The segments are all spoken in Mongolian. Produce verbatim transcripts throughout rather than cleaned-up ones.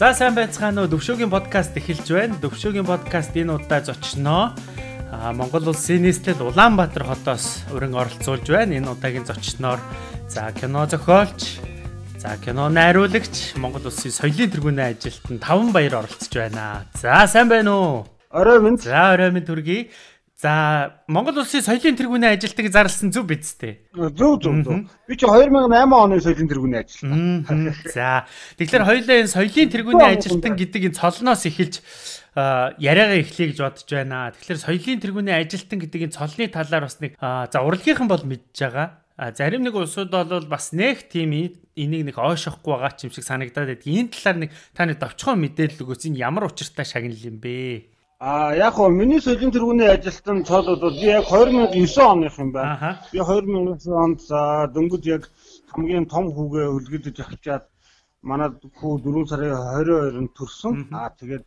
За сайн байцгаана уу. Төвшөөгийн подкаст эхэлж байна. Төвшөөгийн подкаст энэ удаа зочноо Монгол улсын нийслэл Улаанбаатар хотоос өрн оролцуулж байна. Энэ удаагийн зочноор за кино зохиолч, за кино найруулагч, Монгол улсын соёлын тэргүүний ажилтан Таван Баяр оролцож байна. За сайн байна уу? Орой минь. За орой минь төргий. За Монгол улсын соёлын тэргүүний ажилтныг зарласан зүв биз дээ. Зүв зүв зүв. Би чи две тысячи восемь оны соёлын тэргүүний ажилтан. За тэгэхээр хоёулаа энэ соёлын тэргүүний ажилтан гэдэг энэ цолноос эхэлж яриагаа эхлэе гэж бодож байна. Тэгэхээр соёлын тэргүүний ажилтан гэдэг энэ цолны талаар бас нэг за урлагийнхан бол мэдж байгаа. Зарим нэг улсууд бол бас нэг тийм энийг нэг ойшохгүй байгаа ч юм шиг санагдаад байдаг. Энэ талаар нэг та нэг товчхон мэдээлэл өгөөс энэ ямар учиртай шагнал юм бэ? А яг хоо миний соёлын тэргүүний ажилтан цол бол би яг две тысячи девять оных юм байна. Би две тысячи девять онд за дөнгөж яг хамгийн том хүүгээ үлгэдэж авчаад манай хүү дөрвөн сарын двадцать двонд төрсөн. Аа тэгээд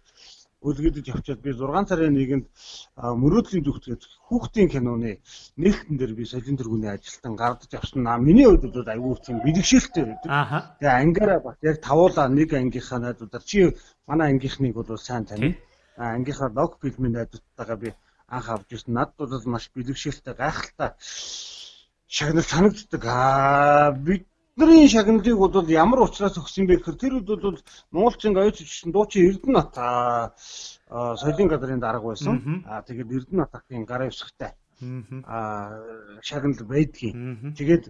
үлгэдэж авчаад би шесть сарын нэгнд мөрөөдлийн зүгтгээд хүүхдийн киноны нээлтэн дээр би соёлын тэргүүний ажилтан гардаж авсан. Аа миний хувьд бол аюул тийм бэлгшээлтэй байдаг. Аа. Тэгээ ангиараа бас яг тавуулаа нэг ангийнхаа найдуудаар чи манай ангийнхныг бол сайн тань. А ангийнхаа лог фильмийн найдвартайгаа би анх авч ирсэн. Надад бол маш бэлгшээлтэй гайхалтай шагнал санагддаг. Аа бидний шагналыг бол ямар учраас өгсөн бэ гэхээр тэр үед бол Монголчин оюуч чинь дуучин Эрдэнэбат соёлын газрын дарга байсан. Аа тэгээд Эрдэнэбатын гарын өсгтэй аа шагнал байдгийн. Тэгээд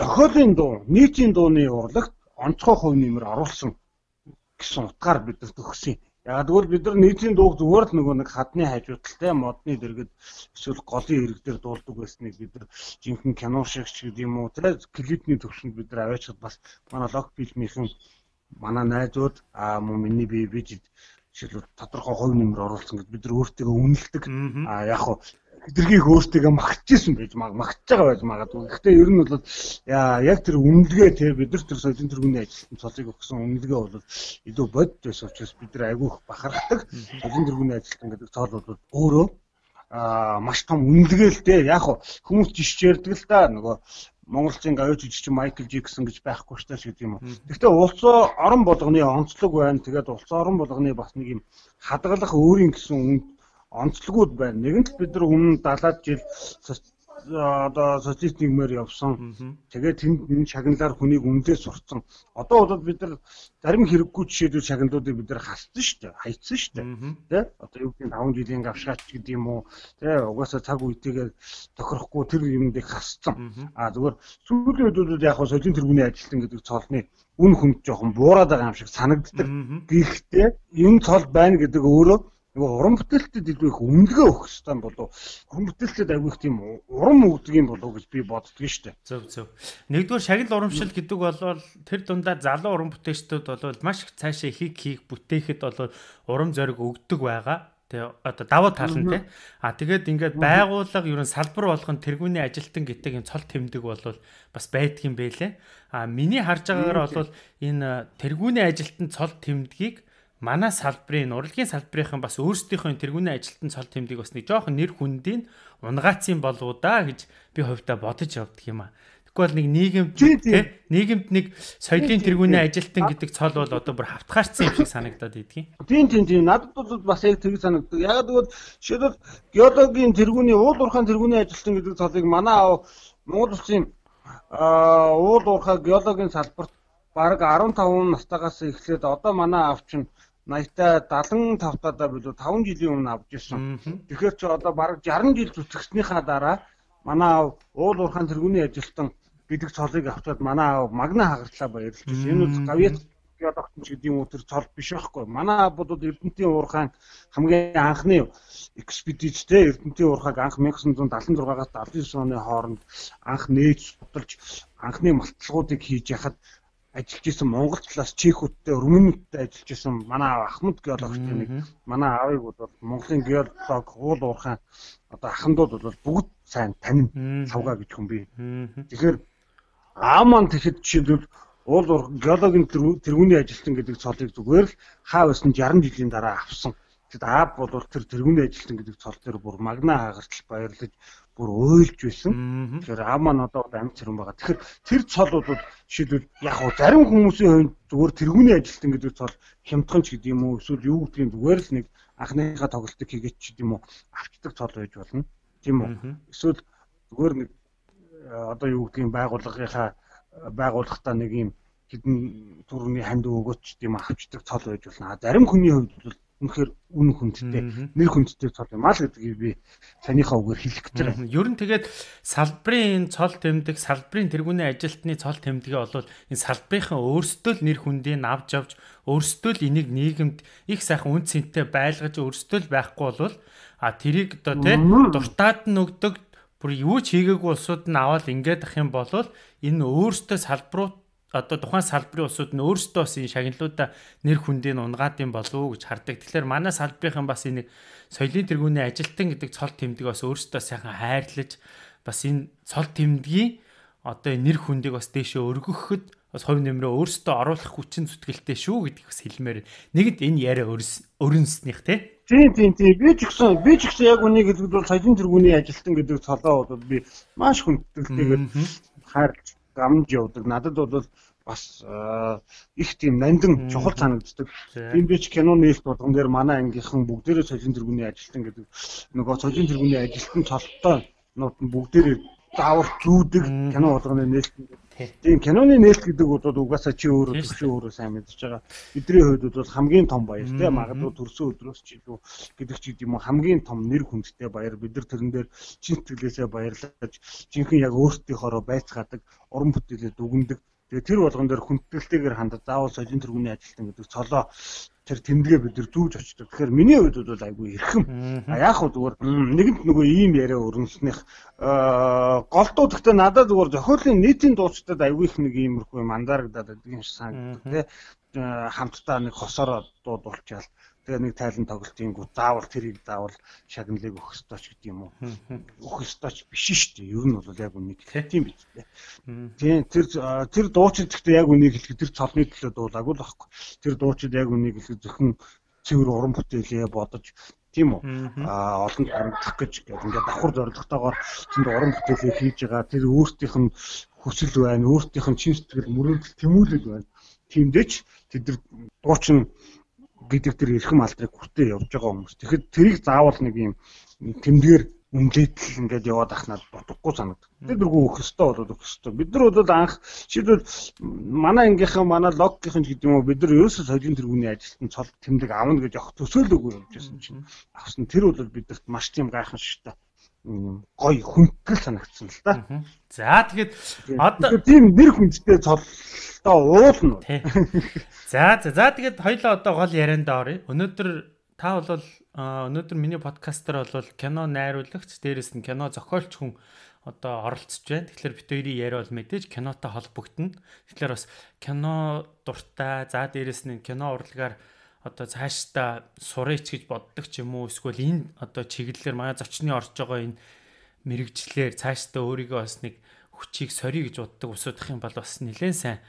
зохиолын дуу, нийтийн дууны урлагт онцгой хувь нэмэр оруулсан гэсэн утгаар бидэрт өгсөн. Яг тэгвэл бид нар нийтийн дууг зүгээр л нөгөө нэг хадны хажуудалтай модны дэргэд эсвэл голын ирэг дээр дуулдаг байсныг бид нар жинхэнэ кино шиг ч гэдэг юм уу те клипний төвшөнд бид нар аваачаад бас манай лог фильмийнхэн манай найзууд аа мөн миний бие бижид жишээлбэл тодорхой хувь нэмэр оруулсан гэж бид нар өөртөө үнэлдэг. Аа яг хоо эдгэргийг өөртөө магтчихсэн байж магтж байгаа байж магадгүй. Гэхдээ ер нь бол яг тэр үнэлгээ те бид нар тэр соёлын тэргүүний ажилтан цолыг өгсөн үнэлгээ бол илүү бодит байсан учраас бид нар айгүйх бахархдаг. Соёлын тэргүүний ажилтан гэдэг цол бол өөрөө аа маш том үнэлгээ л те яг хүмүүс жишж ярьдаг л да нөгөө Монголчин оюуч жижиг Майкл Джексон гэж байхгүй штэ гэдэг юм уу. Гэхдээ улс орон болгоны онцлог байна. Тэгээд улс орон болгоны бас нэг юм хадгалах өөрийн гэсэн үнд онцлогуд байна. Нэгэнт бид нар өмнө далаад жил одоо социалист нийгмээр явсан. Тэгээд тэнд энэ шагналаар хүнийг үнэлээ сурцсан. Одоо бол бид нар зарим хэрэггүй жишээлбэл шагналуудыг бид нар хассан шүү дээ. Хайцсан шүү дээ. Тэ? Одоо юу гэдэг таван жилийн гавшгаач гэдэг юм уу? Тэ? Угаасаа цаг үетэйгээ тохирохгүй тэр юмдыг хассан. Аа зүгээр сүүлийн үед бол яг соёлын тэргүүний ажилтан гэдэг цолны үн хүнд жоохон буураад байгаа юм шиг санагддаг. Гэхдээ энэ цол байна гэдэг өөрөө нөгөө уран бүтээлтэд илүү их үнэлгээ өгөх хэрэгтэй болов. Уран бүтээлтэд аягүй их тийм урам өгдөг юм болов гэж би боддгоо шүү дээ. Зөв зөв. Нэгдүгээр шагнал урамшил гэдэг бол тэр дундаа залуу уран бүтээлчдүүд бол маш их цаашаа ихийг хийх бүтээхэд бол урам зориг өгдөг байгаа. Тэгээ одоо давуу тал нь тий. А тэгээд ингээд байгууллага ерөн салбар болгон тэргүүний ажилтан гэдэг энэ цол тэмдэг бол бас байдгийн байлээ. А миний харж байгаагаар бол энэ тэргүүний ажилтан цол тэмдгийг манай салбарын урлагийн салбарынхан бас өөрсдийнхөө тэргүүний ажилтан цол тэмдэг бас нэг жоохон нэр хүндийн унгаацын болов да гэж би хувьдаа бодож явдаг юм а. Тэгвэл нэг нийгэмд тий нийгэмд нэг соёлын тэргүүний ажилтан гэдэг цол бол одоо бүр хавтгаарцсан юм шиг санагдаад идэгий. Тийм тийм тийм надад бол бас яг тэр санагддаг. Яг тэгвэл жишээлбэл геологийн тэргүүний уул уурхайн тэргүүний ажилтан гэдэг цолыг манай аав Монгол улсын уул уурхай геологийн салбарт бараг15 настайгаас эхлээд одоо манай аав чинь наятаа седемдесет тавтаа билүү таван жилийн өмнө авч ирсэн. Тэгэхээр чи одоо бараг шейсдесят жил зүтгэснийхаа дараа манай аав уул уурхайн тэргүүний ажилтан гэдэг цолыг авчаад манай аав магна хагартлаа баярлаж байна. Энэ үз гавьяа геологч гэдэг юм уу тэр цол биш байхгүй. Манай аав бол Эрдэнэтийн уурхайн хамгийн анхны экспедицтэй Эрдэнэтийн уурхайг анх 천ix seventy-six-аас seventy-nine оны хооронд анх нээж судалж анхны малтлагуудыг хийж яхад ажиллаж исэн Монгол талаас Чехүүдтэй, Румынуудтай ажиллаж исэн манай Ахмад геологчтой нэг манай аавыг бол Монголын геолог уул уурхайн одоо ахандууд бол бүгд сайн танин савгаа гэж хүн би. Тэгэхээр аав маань тэгэхэд жишээлбэл уул уурхай геологийн тэргүүний ажилтан гэдэг цолыг зүгээр л хаа байсан шейсдесят жилийн дараа авсан. Тэгэд аав бол тэр тэргүүний ажилтан гэдэг цол дээр бүр магна хагартал баярлаж бүр уйлж байсан. Тэгэхээр аав маань одоо амьд цэрэн байгаа. Тэгэхээр тэр цолууд жишээлбэл яг уу зарим хүмүүсийн хувьд зүгээр тэргүүний ажилтан гэдэг цол хямдхан ч гэдэг юм уу эсвэл юу гэдгийг зүгээр л нэг анхныхаа тоглолтыг хийгээд ч гэдэг юм уу авчдаг цол байж болно. Тийм үү? Эсвэл зүгээр нэг одоо юу гэдгийг байгууллагынхаа байгууллагатаа нэг юм хэдэн төрөний ханд өгөөч тийм авчдаг цол байж болно. Зарим хүний хувьд бол үнэхээр үн хүндтэй, нэр хүндтэй цол юм аа л гэдгийг би санийхаа үгээр хэлэх гэж байна. Ер нь тэгээд салбарын цол тэмдэг, салбарын тэргүүний ажилтны цол тэмдгээ бол энэ салбарынхаа өөрсдөө л нэр хүндийг авч авч өөрсдөө л энийг нийгэмд их сайхан үн цэнтэй байлгаж өөрсдөө л байхгүй бол а тэрийг одоо тийм дуртаад нь өгдөг бүр юу ч хийгээгүй улсууд нь аваад ингээд ах юм бол энэ өөрсдөө салбарууд одоо тухайн салбарын улсууд нь өөрсдөө бас энэ шагналуудаа нэр хүндийг унгаад юм болов уу гэж хардаг. Тэгэхээр манай салбарынхан бас энэ соёлын тэргүүний ажилтан гэдэг цол тэмдэг бас өөрсдөө сайхан хайрлаж бас энэ цол тэмдгийн одоо нэр хүндийг бас дээшээ өргөхөд бас хувь нэмрээ өөрсдөө оруулах хүчин зүтгэлтэй шүү гэдгийг бас хэлмээр. Нэгд энэ яриа өрнснийх тий. Тийм тийм тийм би ч гэсэн би ч гэсэн яг үнийг хэлбэл бол соёлын тэргүүний ажилтан гэдэг цолоо бол би маш хүндэтгэлтэйгээр хайрлаж гамж явдаг. Надад бол бас их тийм нандин чухал санагддаг. Тийм би ч кино нээлт болгон дээр манай ангийнхан бүгдээрээ соёлын тэргүүний ажилтан гэдэг нөгөө соёлын тэргүүний ажилтан цолтой нууд нь бүгдээрээ заавал зүүдэг кино болгоны нээлт. Тийм киноны нээлт гэдэг бол угаасаа чи өөрөө төвшөө өөрөө сайн мэдж байгаа. Бидний хувьд бол хамгийн том баяр тийм магадгүй төрсөн өдрөөс ч илүү гэдэг ч юм уу хамгийн том нэр хүндтэй баяр. Бид нар тэрэн дээр чин сэтгэлээсээ баярлаж жинхэнэ яг өөртөөхөөрөө байцгаадаг, уран бүтээлээ дүгнэдэг. Тэгээ тэр болгон дээр хүндэтгэлтэйгээр хандаж заавал соёлын тэргүүний ажилтан гэдэг цолоо тэр тэмдэгэ бид нар зүүж очдог. Тэгэхээр миний хувьд бол айгүй эрхэм. А яг хөө зүгээр нэгэнт нөгөө ийм яриа өрнснэх голдуу гэхдээ надад зүгээр зохиолын нийтийн дуучдад айгүй их нэг иймэрхүү юм анзаарагдаад байдаг юм шиг санагддаг тий. Хамтдаа нэг хосоор дууд болчаал тэгээ нэг тайлан тоглолтын гоо заавал тэрийг заавал шагналыг өгөх ёстой ч гэдэг юм уу. Өгөх ёстой ч биш шүү дээ. Ер нь бол яг үнийг тийм биз дээ. Тийм тэр тэр дуучид гэхдээ яг үнийг хэлэхэд тэр цолны төлөө дуулаагүй л байхгүй. Тэр дуучид яг үнийг хэлэхэд зөвхөн цэвэр уран бүтээлээ бодож тийм үү. Аа олон харамтлах гэж ингээд давхар зорилготойгоор тэнд уран бүтээлээ хийж байгаа. Тэр өөртөөх нь хүсэл байна, өөртөөх нь чин сэтгэл мөрөөдөл тэмүүлэл байна. Тиймдээч тэд дуучин гэдэг тэр эрхэм алдрыг хүртээ явж байгаа хүмүүс. Тэгэхээр тэрийг заавал нэг юм тэмдгээр үнэлэл ингээд яваад ахнаад бодохгүй санагдав. Тэр дөрвөө өгөх ёстой болоод өгөх ёстой. Бид нар бол анх жишээлбэл манай ангийнхан, манай логгийнхан ч гэдэг юм уу бид нар ерөөсөө соёлын тэргүүний ажилтан цол тэмдэг аавна гэж явах төсөөлөөгүй явж байсан чинь авсан. Тэр бол бидэрт маш тийм гайхамшигтай гоё хүндэтгэл санагдсан л да. За тэгэхэд одоо тийм нэр хүндтэй цолтой уулна. За за за тэгэхэд хоёлоо одоо гол ярианд оръё. Өнөөдөр та бол өнөөдөр миний подкастер бол кино найруулагч, дээрэс нь кино зохиолч хүн одоо оролцож байна. Тэгэхээр бид хоёрын яриа бол мэдээж кинотой холбогдно. Тэгэхээр бас кино дуртай, за дээрэс нь кино урлагаар одоо цаашдаа сурыч гэж боддог ч юм уу, эсвэл энэ одоо чиглэлээр манай зочны орж байгаа энэ мэрэгчлэр цаашдаа өөрийгөө бас нэг хүчийг сорьё гэж боддог усуудах юм бол бас нэлээд сайн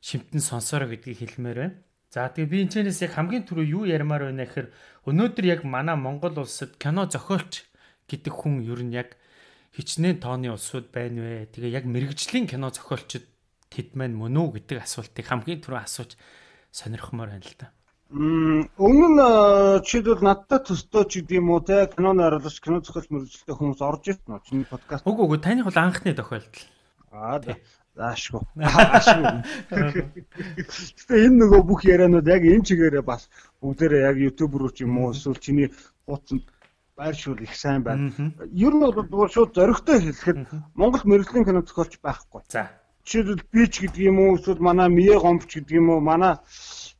шимтэн сонсороо гэдгийг хэлмээр байна. За тэгээ би энэ чэнэс яг хамгийн түрүү юу ярмаар байна гэхээр өнөөдөр яг манай Монгол улсад кино зохиолч гэдэг хүн ер нь яг хичнээн тооны улсууд байна вэ? Тэгээ яг мэрэгжлийн кино зохиолчд тэд маань мөн үү гэдэг асуултыг хамгийн түрүү асууж сонирхмоор байна л да. Өмнө нь жишээлбэл надтай төстэй ч гэдэг юм уу те кино найруулагч, кино зохиолч мэрэгчлээ хүмүүс орж ирсэн нь чиний подкаст. Үгүй үгүй таны бол анхны тохиолдол. Аа заашгүй. Аашгүй. Гэтэ энэ нөгөө бүх ярианууд яг энэ чигээрээ бас бүгдээрээ яг YouTube руу ч юм уу эсвэл чиний хуудсанд байршуул их сайн байна. Ер нь бол шууд зоригтой хэлэхэд Монгол мэрэгжлийн кино зохиолч байхгүй. За. Жишээлбэл би ч гэдэг юм уу эсвэл манай Мие гомч гэдэг юм уу манай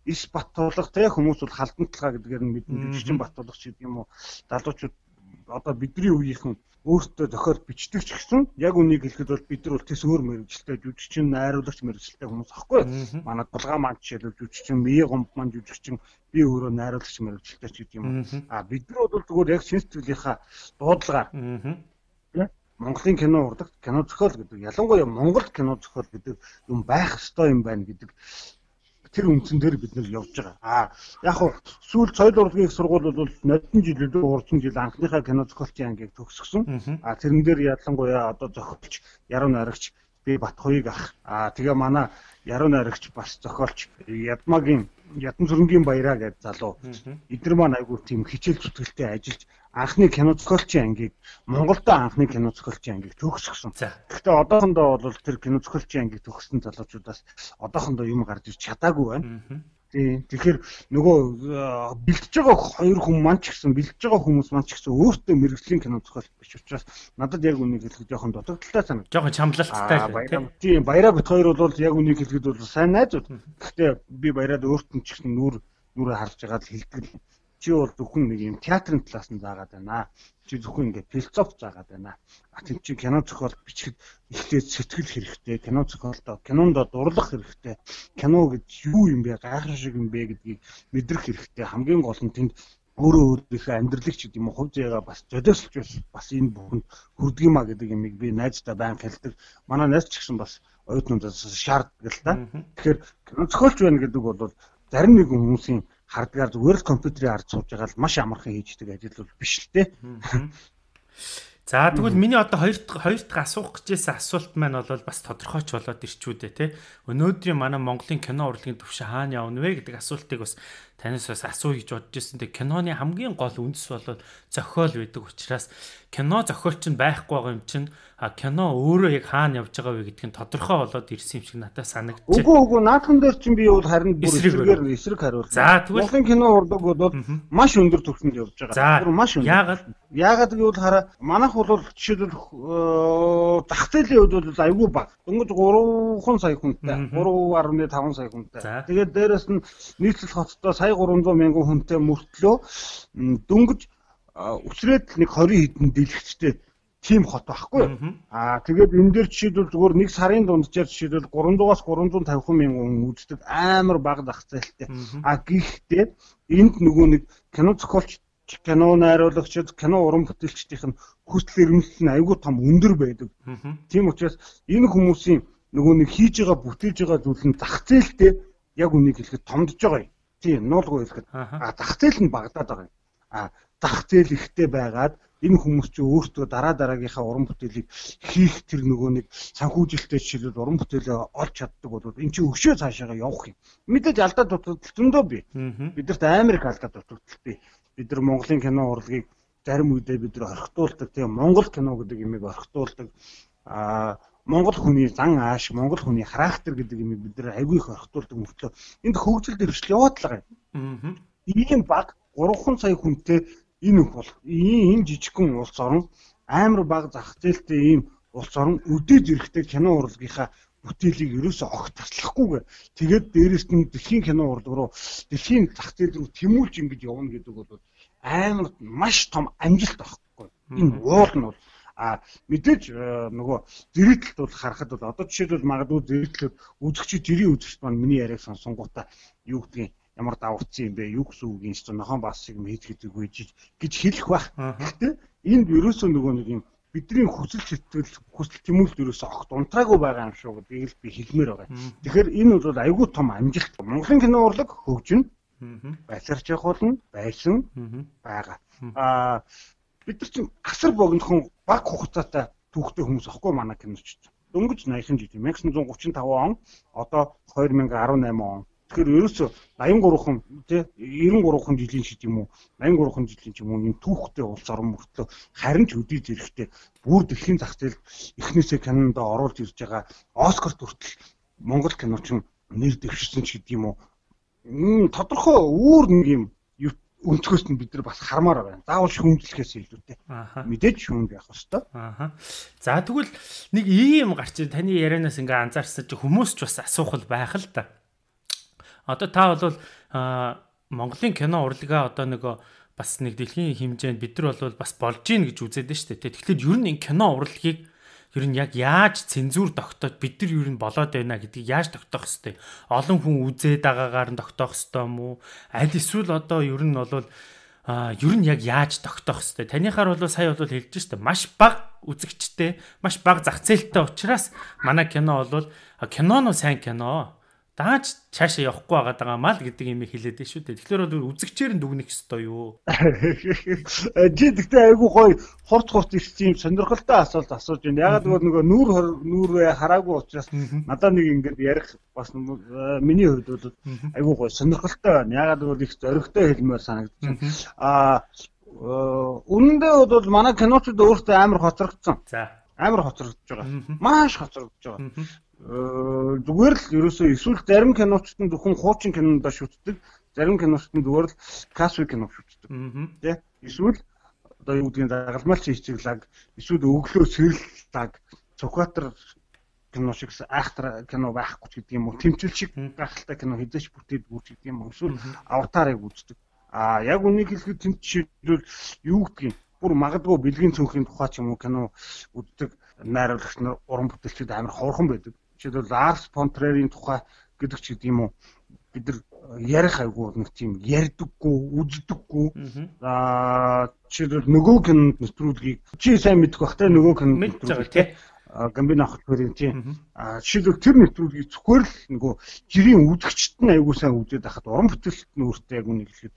Ис Баттуулга те хүмүүс бол халдан талгаа гэдгээр нь мэднэ. Жижигчин Баттуулга ч гэдэг юм уу залуучууд одоо бидний үеийнхэн өөртөө зохиол бичдэг ч гэсэн яг үнийг хэлэхэд бол бид нар бол тэс өөр мэрэгчлээ жүжигчин найруулагч мэрэгчлээ хүмүүс ахгүй. Манай Дулгаан маань жишээлбэл жүжигчин, Мие гомб маань жүжигчин, би өөрөө найруулагч мэрэгчлээ ч гэдэг юм уу. А бид нар бол зүгээр яг шин сэтгэлийнхаа дуудлагаар Монголын кино урлагт кино зохиол гэдэг ялангуяа Монгол кино зохиол гэдэг юм байх ёстой юм байна гэдэг тэр үндсэн дээр бид нэр явж байгаа. Аа яг хуу сүүл соёл урлагийн их сургууль бол нодон жил илүү урдсан жил анхныхаа кино зохиолчийн ангийг төгсгсөн. Аа тэрэн дээр ялангуяа одоо зохиолч Яруу найрагч би Батхуйг ах. Аа тэгээ манай Яруу найрагч бас зохиолч Ядмагийн Ядам сүрэнгийн баяраа гэж залуу. Эдгээр маань айгүй тийм хичээл зүтгэлтэй ажиллаж анхны кино зохиолчийн ангийг Монголдо анхны кино зохиолчийн ангийг төгсгсөн. Гэхдээ одоохондоо бол тэр кино зохиолчийн ангийг төгссөн залуучуудаас одоохондоо юм гарч ирч чадаагүй байна. Тийм. Тэгэхээр нөгөө бэлтэж байгаа хоёр хүн маань ч гэсэн бэлтэж байгаа хүмүүс маань ч гэсэн өөртөө мэрэгжлийн кино зохиолч биш учраас надад яг үнийг хэлэхэд жоохон дутагдaltaй санагдав. Жоохон чамлалттай л тийм. Баяраа бит хоёр бол яг үнийг хэлэхэд бол сайн найзууд. Гэхдээ би баяраад өөрт нь ч гэсэн нүр нүрэ харж байгаа л хэлдэг. Чи бол зөвхөн нэг юм театрын талаас нь заагаад байна. Чи зөвхөн ингээд философи заагаад байна. А тийм чи кино зохиол бичихэд ихтэй сэтгэл хэрэгтэй. Кино зохиолдоо кинонд дурлах хэрэгтэй. Кино гэж юу юм бэ? Гайхах шиг юм бэ гэдгийг мэдрэх хэрэгтэй. Хамгийн гол нь тэнд өөрөө өөрийнхөө амьдралыг ч гэдэм үү хувь заяагаа бас зодиослж бас энэ бүхэнд хүрдэг юма гэдэг юмыг би найздаа байн хэлдэг. Манай найз ч гэсэн бас оюутнуудаас шаарддаг л да. Тэгэхээр кино зохиолч байна гэдэг бол зарим нэг хүмүүсийн хардгаар зүгээр л компьютерийн ард сууж байгаа л маш амархан хийждэг ажил бол биш л те. За тэгвэл миний одоо хоёр хоёр дахь асуух гэжсэн асуулт маань бол бас тодорхойч болоод ирчүүдээ те. Өнөөдрийн манай Монголын кино урлагийн түвшин хаана явна вэ гэдэг асуултыг бас танаас бас асуу гэж бодож ирсэн. Тэг киноны хамгийн гол үндэс бол зохиол байдаг учраас кино зохиолч нь байхгүй байгаа юм чинь кино өөрөө яг хаана явж байгаа вэ гэдг нь тодорхой болоод ирсэн юм шиг надад санагдчих. Үгүй үгүй наадхан дээр чинь би бол харин бүр эсрэгээр эсрэг хариулсан. За тэгвэл Монголын кино урлаг бол маш өндөр түвшинд явж байгаа. Бүр маш өндөр. Яагаад? Яагаад гэвэл хараа манайх бол жишээлбэл зах зээлийн хувьд бол айгүй бага. Дөнгөж гурван сая хүнтэй, гурван гаруй таван сая хүнтэй. Тэгээд дээрэс нь нийслэл хоттой сая гурван зуун мянган хүнтэй мөртлөө дөнгөж үсрээд нэг двадцать хэдэн дэлгэцтэй тим хот байхгүй. Аа тэгээд энэ дээр жишээлбэл зүгээр нэг сарын дунджаар жишээлбэл гурамдугаас гурамдуун тавих мянган хүн үздэг амар бага зах зээлтэй. Аа гэхдээ энд нөгөө нэг кино зохиолч, кино найруулагчид, кино уран бүтээлчдийн хүсэл эрмэлзэл нь айгүй том өндөр байдаг. Тийм учраас энэ хүмүүсийн нөгөө нэг хийж байгаа бүтээж байгаа зүйл нь зах зээлтэй яг үнийг хэлэхэд томдож байгаа юм. Тийм, нуулгүй хэлэхэд. Аа зах зээл нь багадаад байгаа юм. Аа зах зээл ихтэй байгаад энэ хүмүүс ч өөртөө дараа дараагийнхаа уран бүтээлийг хийх тэр нөгөө нэг санхүүжилттэй жишээлбэл уран бүтээлээ олж чаддаг бол эн чинь өшөө цаашаага явах юм. Мэдээж алдаа дутагдал зөндөө бий. Бидэрт амар их алдаа дутагдал бий. Бид нар Монголын кино урлагийг зарим үедээ бид нар орхитуулдаг. Тийм Монгол кино гэдэг имийг орхитуулдаг. Аа Монгол хүний зан ааш, Монгол хүний характер гэдэг имийг бид нар айгүй их орхитуулдаг мөртлөө энд хөгжил дэвшил яваад л байгаа юм. Ийм баг гурван сая хүнтэй энэ бол ийм жижигхэн улс орон амар бага зах зээлтэй ийм улс орон өдөөж ирэхтэй кино урлагийнхаа бүтээлийг ерөөсөө огт таслахгүйгээр тэгээд дээрэс нь дэлхийн кино урлаг руу дэлхийн зах зээл рүү тэмүүлж ингэж явна гэдэг бол амар маш том амжилт байхгүй. Энэ уул нь бол а мэдээж нөгөө зэрэгтэлд бол харахад бол одоо жишээлбэл магадгүй зэрэгтлүүд үзэгчид тэрийн үзэгчд маань миний яриаг сонсонгуудаа юу гэдгийг ямар давхцсан юм бэ? Юу гэсэн үг юм чинь нохон бас шиг хийж гэдэг үгүй гэж хэлэх байх. Гэхдээ энд ерөөсөө нөгөө нэг юм бидний хүсэл сэтгэл хүсэл тэмүүлэлт ерөөсөө огт унтраагүй байгаа юм шүү гэдгийг л би хэлмээр байгаа. Тэгэхээр энэ бол айгүй том амжилт. Монголын кино урлаг хөгжинэ. Байсарч явах болно, байсан байгаа. Аа бид нар чинь асар богинохон баг хугацаатай түүхтэй хүмүүс ахгүй манай киночд. Дөнгөж наяхан жил 천аа найман гуравч таван он, одоо хоёр мянга арван найман он. Тэгэхээр ерөөсөө аян гурван тий девяносто гурван жилийн шид юм уу найман гурван жилийн ч юм уу энэ түүхтэй улс орон мөртлөө харин ч өдий зэрэгтэй бүр дэлхийн зах зээл эхнээсээ кинонд оруулж ирж байгаа Оскар хүртэл Монгол киноч нэр дэвширсэн ч гэдэг юм уу. Тодорхой өөр нэг юм өнцгөөс нь бид нар бас хармаар байна. Заавал шүүмжлэхээс илүүтэй. Мэдээж шүүмж явах ёстой. Аа. За тэгвэл нэг ийм гарч таны ярианаас ингээ анзаарсан чи хүмүүс ч бас асуух байх л та. Одоо та бол Монголын кино урлагаа одоо нөгөө бас нэг дэлхийн хэмжээнд бид нар бол бас болж гин гэж үзээд нь шүү дээ. Тэгэхээр ер нь энэ кино урлагийг ер нь яг яаж цензуур тогтоож бид нар ер нь болоод байна гэдгийг яаж тогтоох хэвтэй. Олон хүн үзээд байгаагаар нь тогтоох хэвтэй юм уу? Аль эсвэл одоо ер нь бол а ер нь яг яаж тогтоох хэвтэй. Танийхаар бол сая бол хэлж штэ маш бага үзэгчтэй, маш бага зах зээлтэй учраас манай кино бол кино нь сайн кино. Дааж цаашаа явахгүй байгаа мал гэдэг юм хэлээд дээ шүү дээ. Тэгэхээр бол үзэгчээр нь дүгнэх ёстой юу? Жи гэхдээ айгүй гоё хурц хурц ирсэн юм сонирхолтой асуулт асууж байна. Ягаад гэвэл нөгөө нүүр нүүрээ хараагүй учраас надад нэг ингэж ярих бас миний хувьд бол айгүй гоё сонирхолтой байна. Ягаад гэвэл их зоригтой хэлмээр санагдаж байна. Аа үнэндээ бол манай киночууд өөртөө амар хоцрогдсон. За. Амар хоцрогдож байгаа. Маш хоцрогдож байгаа. Зүгээр л ерөөсөө эсвэл зарим киночтод зөвхөн хуучин кинондоо шүтдэг, зарим киночтод зүгээр л классик кино шүтдэг. Тэ? Эсвэл одоо юу гэдгийг дагалмалч хичэглэг, эсвэл өглөө сэрлэг, цукатар кино шиг айхтар кино байхгүй ч гэдэг юм уу, тэмцэл шиг гахалтай кино хэзээч бүтээдгүй ч гэдэг юм уу, эсвэл аватарыг үздэг. А яг үнийг хэлэхэд тэнд жишээлбэл юу гэдгийг бүр магадгүй бэлгийн цүнхийн тухай ч юм уу кино үздэг найруулагч нар уран бүтээлчид амар ховорхон байдаг. Жишээлбэл Lars von Trier-ийн тухай гэдэг ч гэдэг юм уу бид нар ярих айгүй нэг тийм ярьдаггүй, үздэггүй. Аа жишээлбэл нөгөө кинонд нэвтрүүлгийг чи сайн мэдэх бах те нөгөө кинонд нэвтрүүлгийг те Гамбин авах хоёрын тийм аа жишээлбэл тэр нэвтрүүлгийг зөвхөн л нөгөө жирийн үзэгчд нь айгүй сайн үзээд байхад уран бүтээлчд нь өөртөө яг үнийг хэлэхэд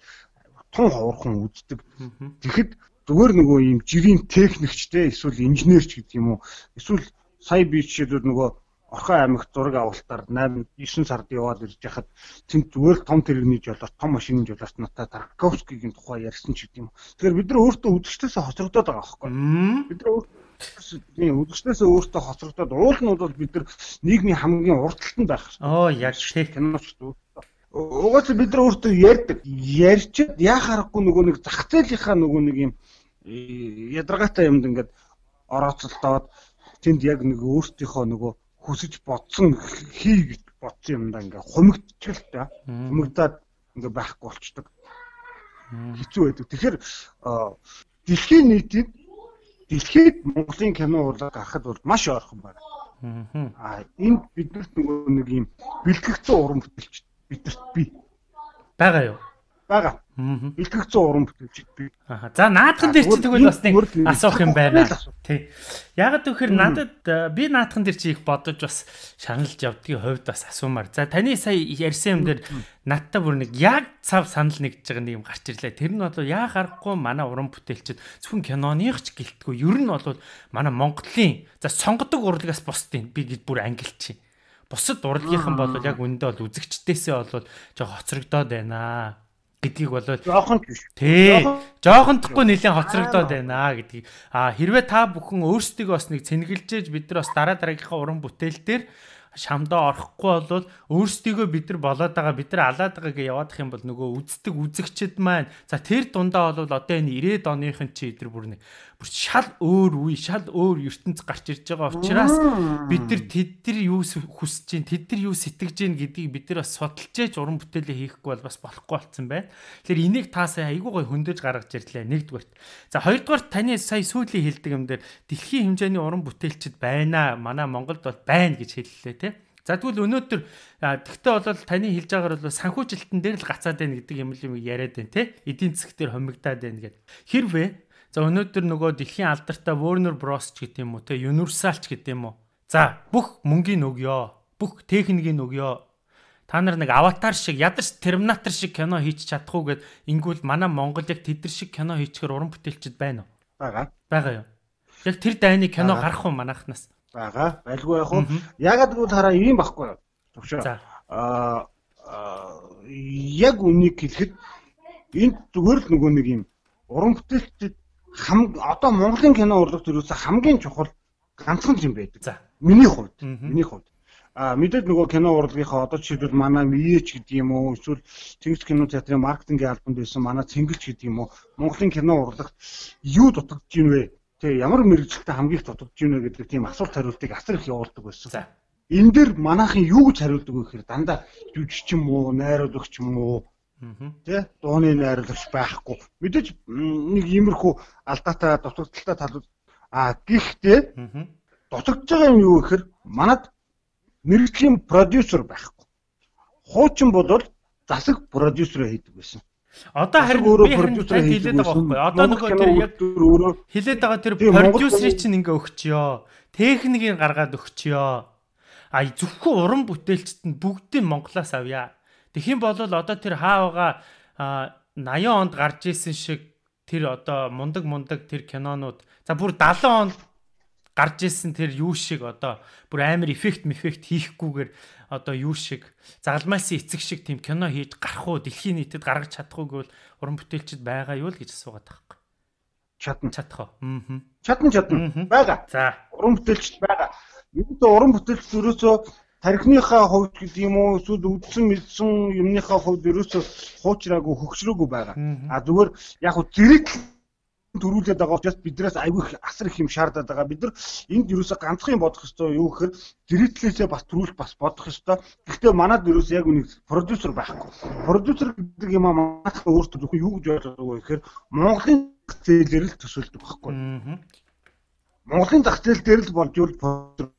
тун ховорхон үздэг. Тэгэхэд зүгээр нөгөө юм жирийн техникчтэй эсвэл инженерч гэдэг юм уу эсвэл сая би жишээлбэл нөгөө Орхон аймагт зураг авалтаар восемь девять сард яваад ирж яхад тэнд зүгээр том тэрэгний жолооч, том машины жолооч надад Тарковскигийн тухай ярьсан ч гэдэг юм. Тэгэхээр бид нар өөртөө үзэгчдээс хоцрогдоод байгаа байхгүй. Бид нар өөртөө үзэгчдээс өөртөө хоцрогдоод уул нь бол бид нар нийгмийн хамгийн уртталтанд байх. Оо яг тийм киноч дүү. Угаасаа бид нар өөртөө ярьдаг. Ярьчихэд яах аргагүй нөгөө нэг зах зээлийнхаа нөгөө нэг юм ядаргаатай юмд ингээд орооцолдоод тэнд яг нэг өөртөөхөө нөгөө хүсэж бодсон хий гэж бодсон юмдаа ингээ хумигдчих л та. Хумигдаад ингээ байхгүй болчдөг. Хэцүү байдаг. Тэгэхээр дэлхийн нийтэд дэлхийд Монголын кино урлаг гарахад бол маш ойрхон байна. Аа энд биднэрт нөгөө нэг юм бэлтгэгдсэн уран бүтээлч бидэрт бий. Бага юу? Бага. Бэлтгэгдсэн уран бүтээлч бий. Аа. За наадхан дээр чи тэгвэл бас нэг асуух юм байна. Тий. Яг тэгэхээр надад би наадхан дээр чи их бодож бас шаналж явдгийн хувьд бас асуумаар. За таны сая ярьсан юм дээр надтай бүр нэг яг цав санал нэгж байгаа нэг юм гарч ирлээ. Тэр нь бол яа гарахгүй манай уран бүтээлчд зөвхөн киноных ч гэлтгүй. Ер нь бол манай Монголын за сонгодог урлагаас бусдын би гэж бүр ангилчих. Бусад урлагийнхан бол яг үндэ бол үзэгчдээсээ бол жоо хоцрогдоод байна гэдгийг болоод жоохон биш. Тий. Жоохон тахгүй нэлээд хоцрогдоод байна гэдгийг. А хэрвээ та бүхэн өөрсдөө бас нэг цэнгэлжээж бид нар бас дараа дараагийнхаа уран бүтээл дээр шамдаа орохгүй болвол өөрсдийгөө бид нар болоод байгаа бид нар алаад байгаа гэж яваадах юм бол нөгөө үздэг үзэгчд маань за тэр дундаа бол одоо энэ ирээд оныхын чи эдэр бүр нэг бүр шал өөр үе шал өөр ертөнц гарч ирж байгаа учраас бид нар тэд нар юу хүсэж чинь тэд нар юу сэтгэж чинь гэдгийг бид нар бас судалж ээж уран бүтээлээ хийхгүй бол бас болохгүй болсон байна. Тэгэхээр энийг таасаа айгүй гой хөндөж гаргаж ирлээ нэгдүгээрт. За хоёрдугаарт таны сая сүүлийн хэлдэг юм дээр дэлхийн хэмжээний уран бүтээлчд байна. Манай Монголд бол байна гэж хэллээ тий. За тэгвэл өнөөдөр тэгтээ бол таны хэлж байгаагаар бол санхүүжилтэн дээр л гацаад байна гэдэг юм л юм яриад байна те эдийн засаг дээр хомигдаад байна гэдэг. Хэрвээ за өнөөдөр нөгөө дэлхийн алдартай Warner Bros ч гэдэг юм уу те Universal ч гэдэг юм уу. За бүх мөнгөний өгөө, бүх техникийн өгөө. Та нар нэг аватар шиг ядарч Терминатор шиг кино хийчих чадахгүй гэд ингүүл манай Монгол яг тэдэр шиг кино хийчихээр уран бүтээлчд байна уу? Бага. Байгаа юу? Яг тэр дайны кино гарах уу манайхнаас? Бага. Байлгүй яг уу. Ягаад гэвэл хараа ийм байхгүй юу? Төвшөө. Аа яг үнийг хэлэхэд энд зүгээр л нөгөө нэг юм уран бүтээлчд хам одоо Монголын кино урлаг төрөөс хамгийн чухал ганцхан юм байдаг. За. Миний хувьд. Миний хувьд. А мэдээд нөгөө кино урлагийнхаа одоо жишээлбэл манай И Эч гэдэг юм уу эсвэл Тэнгис кино театрын маркетингийн албанд байсан манай Цэнгэлж гэдэг юм уу Монголын кино урлагт юу дутагдж ийн вэ? Тэ ямар мэрэгчлэлтэй хамгийн их дутагдж ийн вэ гэдэг тийм асуулт хариултыг асар их явуулдаг байсан. За. Энэ дээр манайхын юу гэж хариулдаг вэ гэхээр дандаа жүжигч юм уу, найруулагч юм уу? Тэ дууны найруулагч байхгүй. Мэдээж нэг иймэрхүү алдаатай дутагдaltaй талууд а гэхдээ дутагдж байгаа юм юу гэхээр манад мэрэгжлийн продюсер байхгүй. Хуучин бодвол засаг продюсер хийдэг байсан. Одоо харин өөрөө продюсер хийлээд байгаа байхгүй. Одоо нөгөө тэр яг хэлээд байгаа тэр продюсерыг чинь ингээ өгчё. Техникийг гаргаад өгчё. А зөвхөн уран бүтээлчд нь бүгдийг Монголоос авъя. Тэгэх юм бол одоо тэр хаавга наяан онд гарч исэн шиг тэр одоо мундаг мундаг тэр кинонууд за бүр далайн онд гарч исэн тэр юу шиг одоо бүр амар эффект мефект хийхгүйгээр одоо юу шиг загалмайсан эцэг шиг тийм кино хийж гарах уу дэлхийн нийтэд гаргаж чадах уу гэвэл уран бүтээлчд байгаа юу л гэж асуугаад байхгүй. Чадна чадах уу? Аа. Чадна чадна. Бага. За. Уран бүтээлчд байгаа. Ердөө уран бүтээлч ерөөсөө тархиныхаа хувьд гэдэг юм уу эсвэл үдсэн мэдсэн юмныхаа хувьд ерөөсөө хуучраагүй хөгжрөөгүй байгаа. А зүгээр яг хөө зэрэг төрүүлээд байгаа учраас биднээс айгүй асар их юм шаардаад байгаа. Бид нар энд ерөөсөө ганцхан бодох ёстой юу гэхээр зэрэглээсээ бас төрүүлж бас бодох ёстой. Гэхдээ манад ерөөсөө яг нэг продюсер байхгүй. Продюсер гэдэг юм аа манайх өөртөө зөвхөн юу гэж ойлгож байгаа вэ гэхээр Монголын зах зээлээр л төсөөлдөг байхгүй. Монголын зах зээл дээр л болж юу боддог.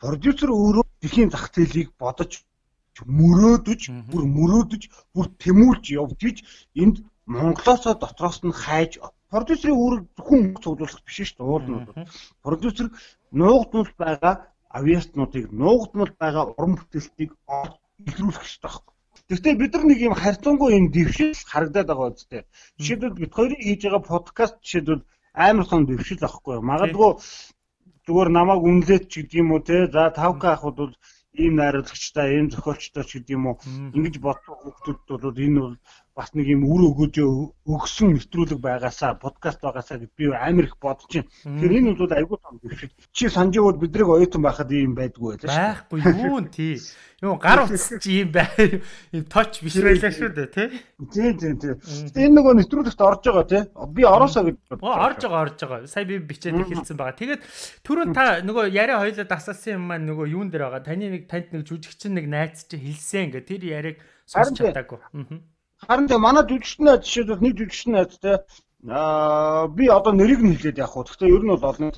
Продюсер өөрөө дэлхийн зах зээлийг бодож мөрөөдөж, бүр мөрөөдөж, бүр тэмүүлж явж иж энд Монголоос дотроос нь хайж продюсерийн үүрэг зөвхөн цуглуулах биш шүү дээ. Уулнууд. Продюсер нуугдмал байгаа авиаснуудыг, нуугдмал байгаа уран бүтээлтийг илрүүлэх хэрэгтэй байхгүй. Гэхдээ бид нар нэг юм харьцангуй юм дэвшил харагдаад байгаа үстэй. Жишээлбэл бид хоёрын хийж байгаа подкаст жишээлбэл амар сон дэвшил авахгүй. Магадгүй зүгээр намайг үнэлээд ч гэдэг юм уу те. За тавка ахуд бол ийм найруулагчтай, ийм зохиолчтой ч гэдэг юм уу. Ингэж бодох хүмүүсд бол энэ бол бас нэг юм үр өгөөж өгсөн нэвтрүүлэг байгаасаа подкаст байгаасаа гэд би амар их бодож байна. Тэгэхээр энэ бол айгүй том дэвшил. Чи санджи бол бидрийг оюутан байхад ийм байдгүй байлаа шүү. Байхгүй юу тий. Юу гар утас чи ийм бай. Ийм точ биш байлаа шүү дээ тий. Тий тий тий. Тэгээ энэ нөгөө нэвтрүүлэгт орж байгаа тий. Би ороосоо гэж бодлоо. Орж байгаа орж байгаа. Сая би бичээд хэлсэн байгаа. Тэгээд түрүүн та нөгөө яриа хоёлоо дасаасан юм маань нөгөө юун дээр байгаа. Таны нэг танд нэг жүжигчин нэг найз чи хэлсэн ингээ тэр яриаг сонсч чадаагүй. Аа. Харин тэ манай жүжигчний найз жишээлбэл нэг жүжигчний найз те аа би одоо нэрийг нь хэлээд явах уу. Гэхдээ ер нь бол олон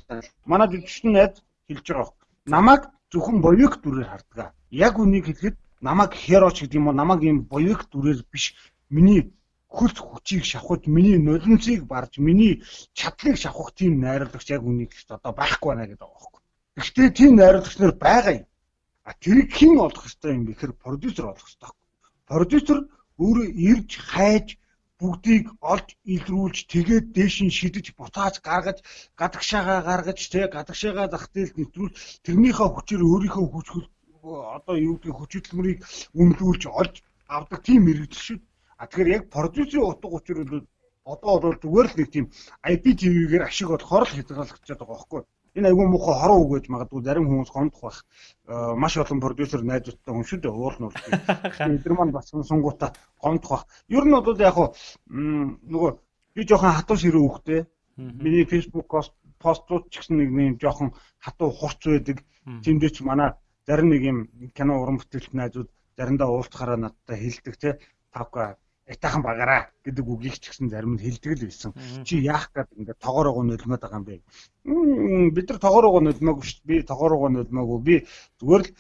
манай жүжигчний найз хэлж байгаа. Намайг зөвхөн боёк дүрээр харддаг. Яг үнийг хэлэхэд намайг хероч гэдэг юм уу намайг юм боёк дүрээр биш миний хөлс хүчийг шавхаж, миний нулимсыг барж, миний чадлыг шавхах тийм найруулагч яг үнийг одоо байхгүй байна гэдэг байгаа байхгүй. Гэхдээ тийм найруулагч нар байгаа юм. А тэрийг хэн олох ёстой юм бэ гэхээр продюсер олох ёстой. Продюсер өөрөө ирж хайж бүгдийг олж илрүүлж тэгээд дээш нь шидэж буцааж гаргаж гадагшаага гаргаж тэ гадагшаага зах зээлд нэвтрүүл тэрнийхээ хүчээр өөрийнхөө хүч одоо юу гэдэг хүчилмэрийг үнэлүүлж олж авдаг тийм мэрэгдэл шүү. А тэгэхээр яг продюсерийн утга учир бол одоо бол зүгээр л нэг тийм ай пи ти ви-гээр ашиг болохоор л хязгаарлагдчихад байгаа байхгүй. Энэ айгүй муухай хорон үг гэж магадгүй зарим хүмүүс гомдох байх. Маш олон продюсер найзуудтай хүн шүү дээ. Уул нь бол эдгээр маань бас сунгуудаа гомдох байх. Ер нь бол яг хуу нөгөө би жоохон хатуу ширээ үхтэй. Миний Facebook постууд ч гэсэн нэг юм жоохон хатуу хурц байдаг. Тэмдээ ч манай зарим нэг юм кино уран бүтээлч найзууд заримдаа уулзахаараа надтай хэлдэг те. Тавка этахан багаараа гэдэг үгийг ч гэсэн зарим нь хэлдэг л байсан. Чи яах гээд ингээд тоогоороо нулимаад байгаа юм бэ? Бид нар тоогоороо нулимаагүй шүү дээ. Би тоогоороо нулимаагүй. Би зүгээр л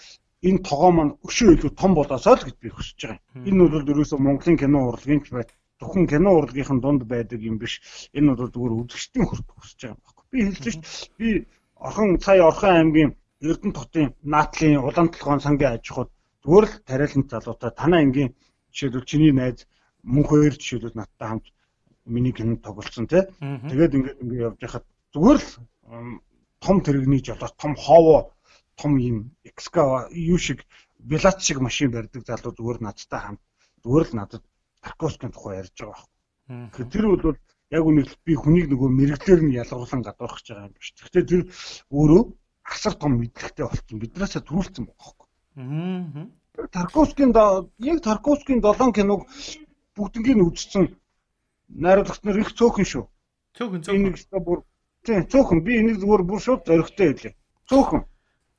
энэ тогоо маань өшөө илүү том болоосоо л гэж би хүсэж байгаа юм. Энэ бол ерөөсөө Монголын кино урлагийн ч бай. Зөвхөн кино урлагийн дунд байдаг юм биш. Энэ бол зүгээр үзэгчдийн хүртэх хүсэж байгаа юм байна. Би хэлж шүү дээ. Би орхон сая Орхон аймгийн Эрдэнэ хотын Наатлын Улаан толгойн сангийн аж ахуйд зүгээр л тариалан залуутай танаа ангийн жишээлбэл чиний найз мөн хоёр жишээлбэл надтай хамт миний кинонд тоглолцсон тий. Тэгээд ингээд ингээд явж байхад зүгээр л том тэрэгний жолоос том хоовоо том юм экскава юу шиг Белац шиг машин барьдаг залуу зүгээр надтай хамт зүгээр л надад Тарковскийн тухай ярьж байгаа байхгүй. Тэр бол яг үнийг би хүнийг нөгөө мэрэгчлэр нь ялгуулсан гадуурхаж байгаа юм биш. Гэхдээ тэр өөрөө асар том мэдлэгтэй болсон. Биднээсээ төрүүлсэн байгаа байхгүй. Тарковскийн яг Тарковскийн долоон киног бүгднийг үзсэн найруулагч нар их цөөхөн шүү. Цөөхөн цөөхөн. Энийг ч бүр тийм цөөхөн би энийг зүгээр бүр шууд зоригтой хэлээ. Цөөхөн.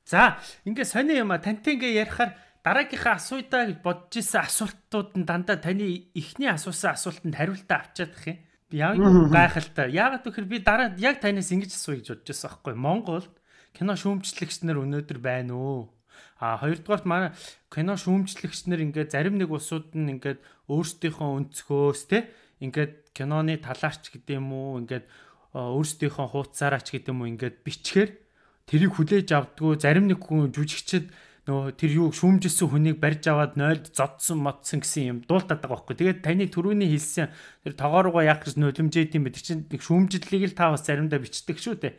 За, ингээ сони юм а тантай ингээ ярихаар дараагийнхаа асуудаа гэж бодож исэн асуултууд нь дандаа таны эхний асуусан асуултанд хариултаа авчиадах юм. Би яг гайхалтай. Яагаад гэвэл би дараа яг танаас ингэж асууя гэж бодож байсан байхгүй. Монголд кино шүүмжлэгч нар өнөөдөр байна уу? А хоёрдугаарт манай кино шүүмжлэгч нар ингээд зарим нэг улсууд нь ингээд өөрсдийнхөө өнцгөөс те ингээд киноны талаарч гэдэг юм уу ингээд өөрсдийнхөө хуудасаараач гэдэг юм уу ингээд бичгээр тэрийг хүлээж авдггүй зарим нэг хүн жүжигчд нөө тэр юу шүүмжилсэн хүнийг барьж аваад нойлд зодсон модсон гэсэн юм дуултаад байгаа байхгүй. Тэгээд таны түрүүний хэлсэн тэр тоогооргоо яах гэж нулимжээд юм байдаг чинь нэг шүүмжлэлийг л та бас заримдаа бичдэг шүү дээ.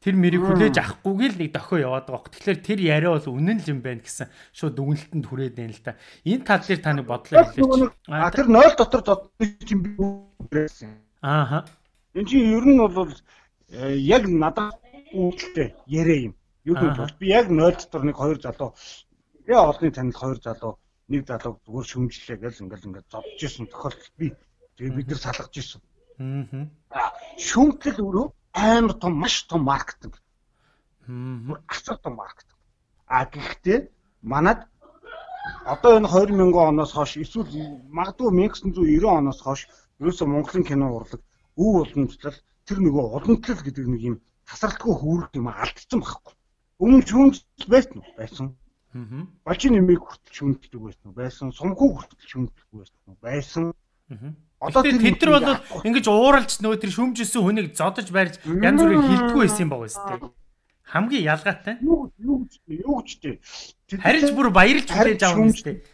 Тэр мэрийг хүлээж авахгүйг л нэг дохио яваад байгаа байхгүй. Тэгэхээр тэр яриа бол үнэн л юм байна гэсэн шууд дүгнэлтэнд хүрээд байна л да. Энэ тал дээр та нэг бодлоо хэлээч. А тэр нойл дотор зодсон юм би. Ааха. Энд чинь ер нь бол яг надад үүдэлтэй яриа юм. Юу гэж бол би яг нойл дотор нэг хоёр залуу яа олонний танил хоёр залуу нэг залуу зүгээр шүмжлээ гэж ингээл ингээд зодж исэн тохиолдол би тэгээ бид нар салгаж исэн. Аа. Шүмжлэл өөрөө амар том маш том маркетинг. Хм. Асар том маркетинг. А гэхдээ манад одоо энэ хоёр мянган оноос хойш эсвэл магадгүй 천ix девяносто оноос хойш ерөөсөө Монголын кино урлаг өв уламжлал тэр нөгөө уламжлал гэдэг нэг юм тасралтгүй хүүрэг юм алдсан байхгүй. Өмнө шүүмжлэл байсан уу? Байсан. Аа. Бачи нэмийг хүртэл шүүмжлдэг байсан уу? Байсан. Сумхуу хүртэл шүүмжлдэг байсан уу? Байсан. Аа. Одоо тэр тэр бол ингэж ууралж нөө тэр шүүмжилсэн хүнийг зодож барьж янз бүрийг хилдэггүй байсан юм байгаа үстэй. Хамгийн ялгаатай. Юу юу гэж юу гэж тий. Харилж бүр баярлж хүлээж авах үстэй.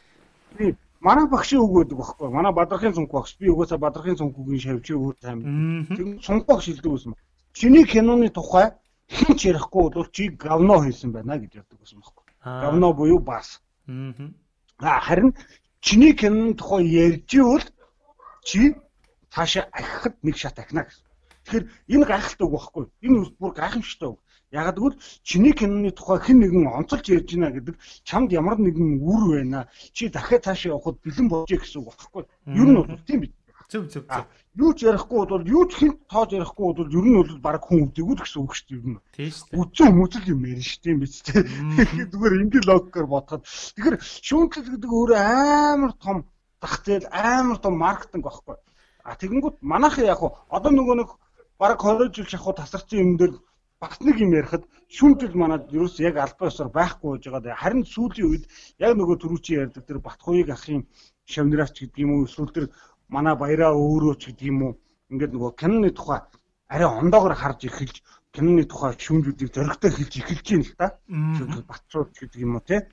Тий. Манай багшийн үг гэдэг багхгүй. Манай Бадрахын цонх багш. Би угаасаа Бадрахын цонхгийн шавьчиг өөр тайм. Тэр цонх багш хэлдэг байсан. Чиний киноны тухай хэн ч ярихгүй бол чи говно хийсэн байна гэж яддаг байсан байхгүй. Говно буюу бас. Аа. Харин чиний киноны тухай ярьж ивэл чи цаашаа ахихад нэг шат ахна гэсэн. Тэгэхээр энэ гайхалтай үг байхгүй. Энэ бүр гайхамшигтай үг. Ягаад гэвэл чиний киноны тухай хэн нэгэн онцолж ярьж байна гэдэг чамд ямар нэгэн үр байна. Чи дахиад цаашаа явахад бэлэн болжээ гэсэн үг байхгүй. Ер нь бол тийм биз. Зөв зөв зөв. Юу ч ярихгүй бол юу ч хэн тоож ярихгүй бол ер нь бол баг хүн өвдөггүй гэсэн үг шүү дээ ер нь. Тийм шүү дээ. Үцэн хүмүүцэл юм ярина шүү дээ биз дээ. Зүгээр ингээл логикоор бодоход. Тэгэхээр шүүмжлэл гэдэг өөрөө амар том зах зээл амар том маркетинг байхгүй. А тэгэнгүүт манайхан яг одоо нөгөө нэг баг хорой жил шахуу тасарсан юм дээр бас нэг юм ярихад шүүмжлэл манад ерөөс яг албан ёсоор байхгүй байж байгаа. Харин сүүлийн үед яг нөгөө түрүүчийн ярьдаг тэр Батхуйг ахын шавныраач гэдэг юм уу эсвэл тэр манай баяраа өөрөө ч гэдэг юм уу ингээд нөгөө киноны тухай арай ондоогоор харж эхэлж киноны тухай шүүмжлүүдийг зөрөгтэй хэлж эхэлж байна л да. Батцууд гэдэг юм уу те.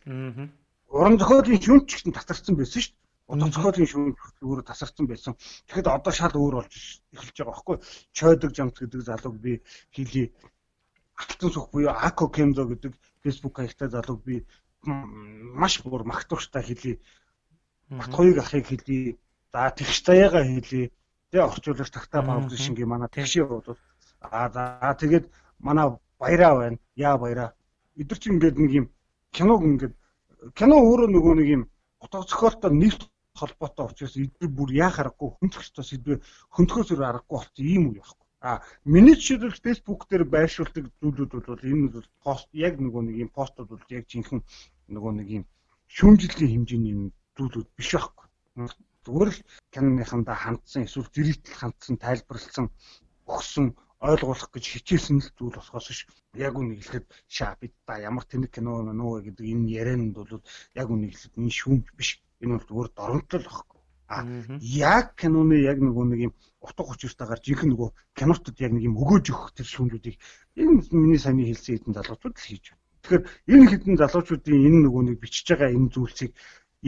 Уран зохиолын шүүмж ч гэсэн тасарсан байсан шүү дээ. Уран зохиолын шүүмж өөрөө тасарсан байсан. Тэгэхэд одоо шал өөр болж эхэлж байгаа байхгүй. Чойдог жамт гэдэг залууг би хэлий. Алтан сүх буюу Ако Кензо гэдэг фэйсбүүк хаягтай залууг би маш бүр магтууштай хэлий. Батхуйг ахыг хэлий. За тэгш заяагаа хэлий. Тэгээ орчуулагч тагтаа паблишингийн манай тэгшээ бол аа за тэгээд манай баяраа байна. Яа баяраа. Эдгэр чинь ингээд нэг юм киног ингээд кино өөрөө нөгөө нэг юм утга зохиолтой нийт холбоотой учраас эдгээр бүр яа харахгүй хүндрэлтэй сэдвээ хөндлөхөөсөр аргагүй болсон ийм үе байхгүй. А миний жишээлбэл Facebook дээр байршуулдаг зүйлүүд бол энэ бол пост яг нөгөө нэг юм постууд бол яг жинхэнэ нөгөө нэг юм шүүмжлэлийн хэмжээний зүйлүүд биш байхгүй. Зүгээр л киноныхандаа хандсан эсвэл зэрэгтэл хандсан тайлбарлсан өгсөн ойлгуулах гэж хичээсэн л зүйл болохоос ш яг үнийг хэлэхэд шаа бид та ямар тэнэг кино нөө гэдэг энэ ярианд бол яг үнийг хэлэхэд энэ шүүмж биш. Энэ бол зүгээр доромжлол байхгүй. А яг киноны яг нөгөө нэг юм утга учиртайгаар жинхэнэ нөгөө кинотод яг нэг юм өгөөж өгөх тэр шүүмжүүдийг энэ миний саяны хэлсэн хэдэн залуучууд л хийж байна. Тэгэхээр энэ хэдэн залуучуудын энэ нөгөө нэг бичиж байгаа энэ зүйлсийг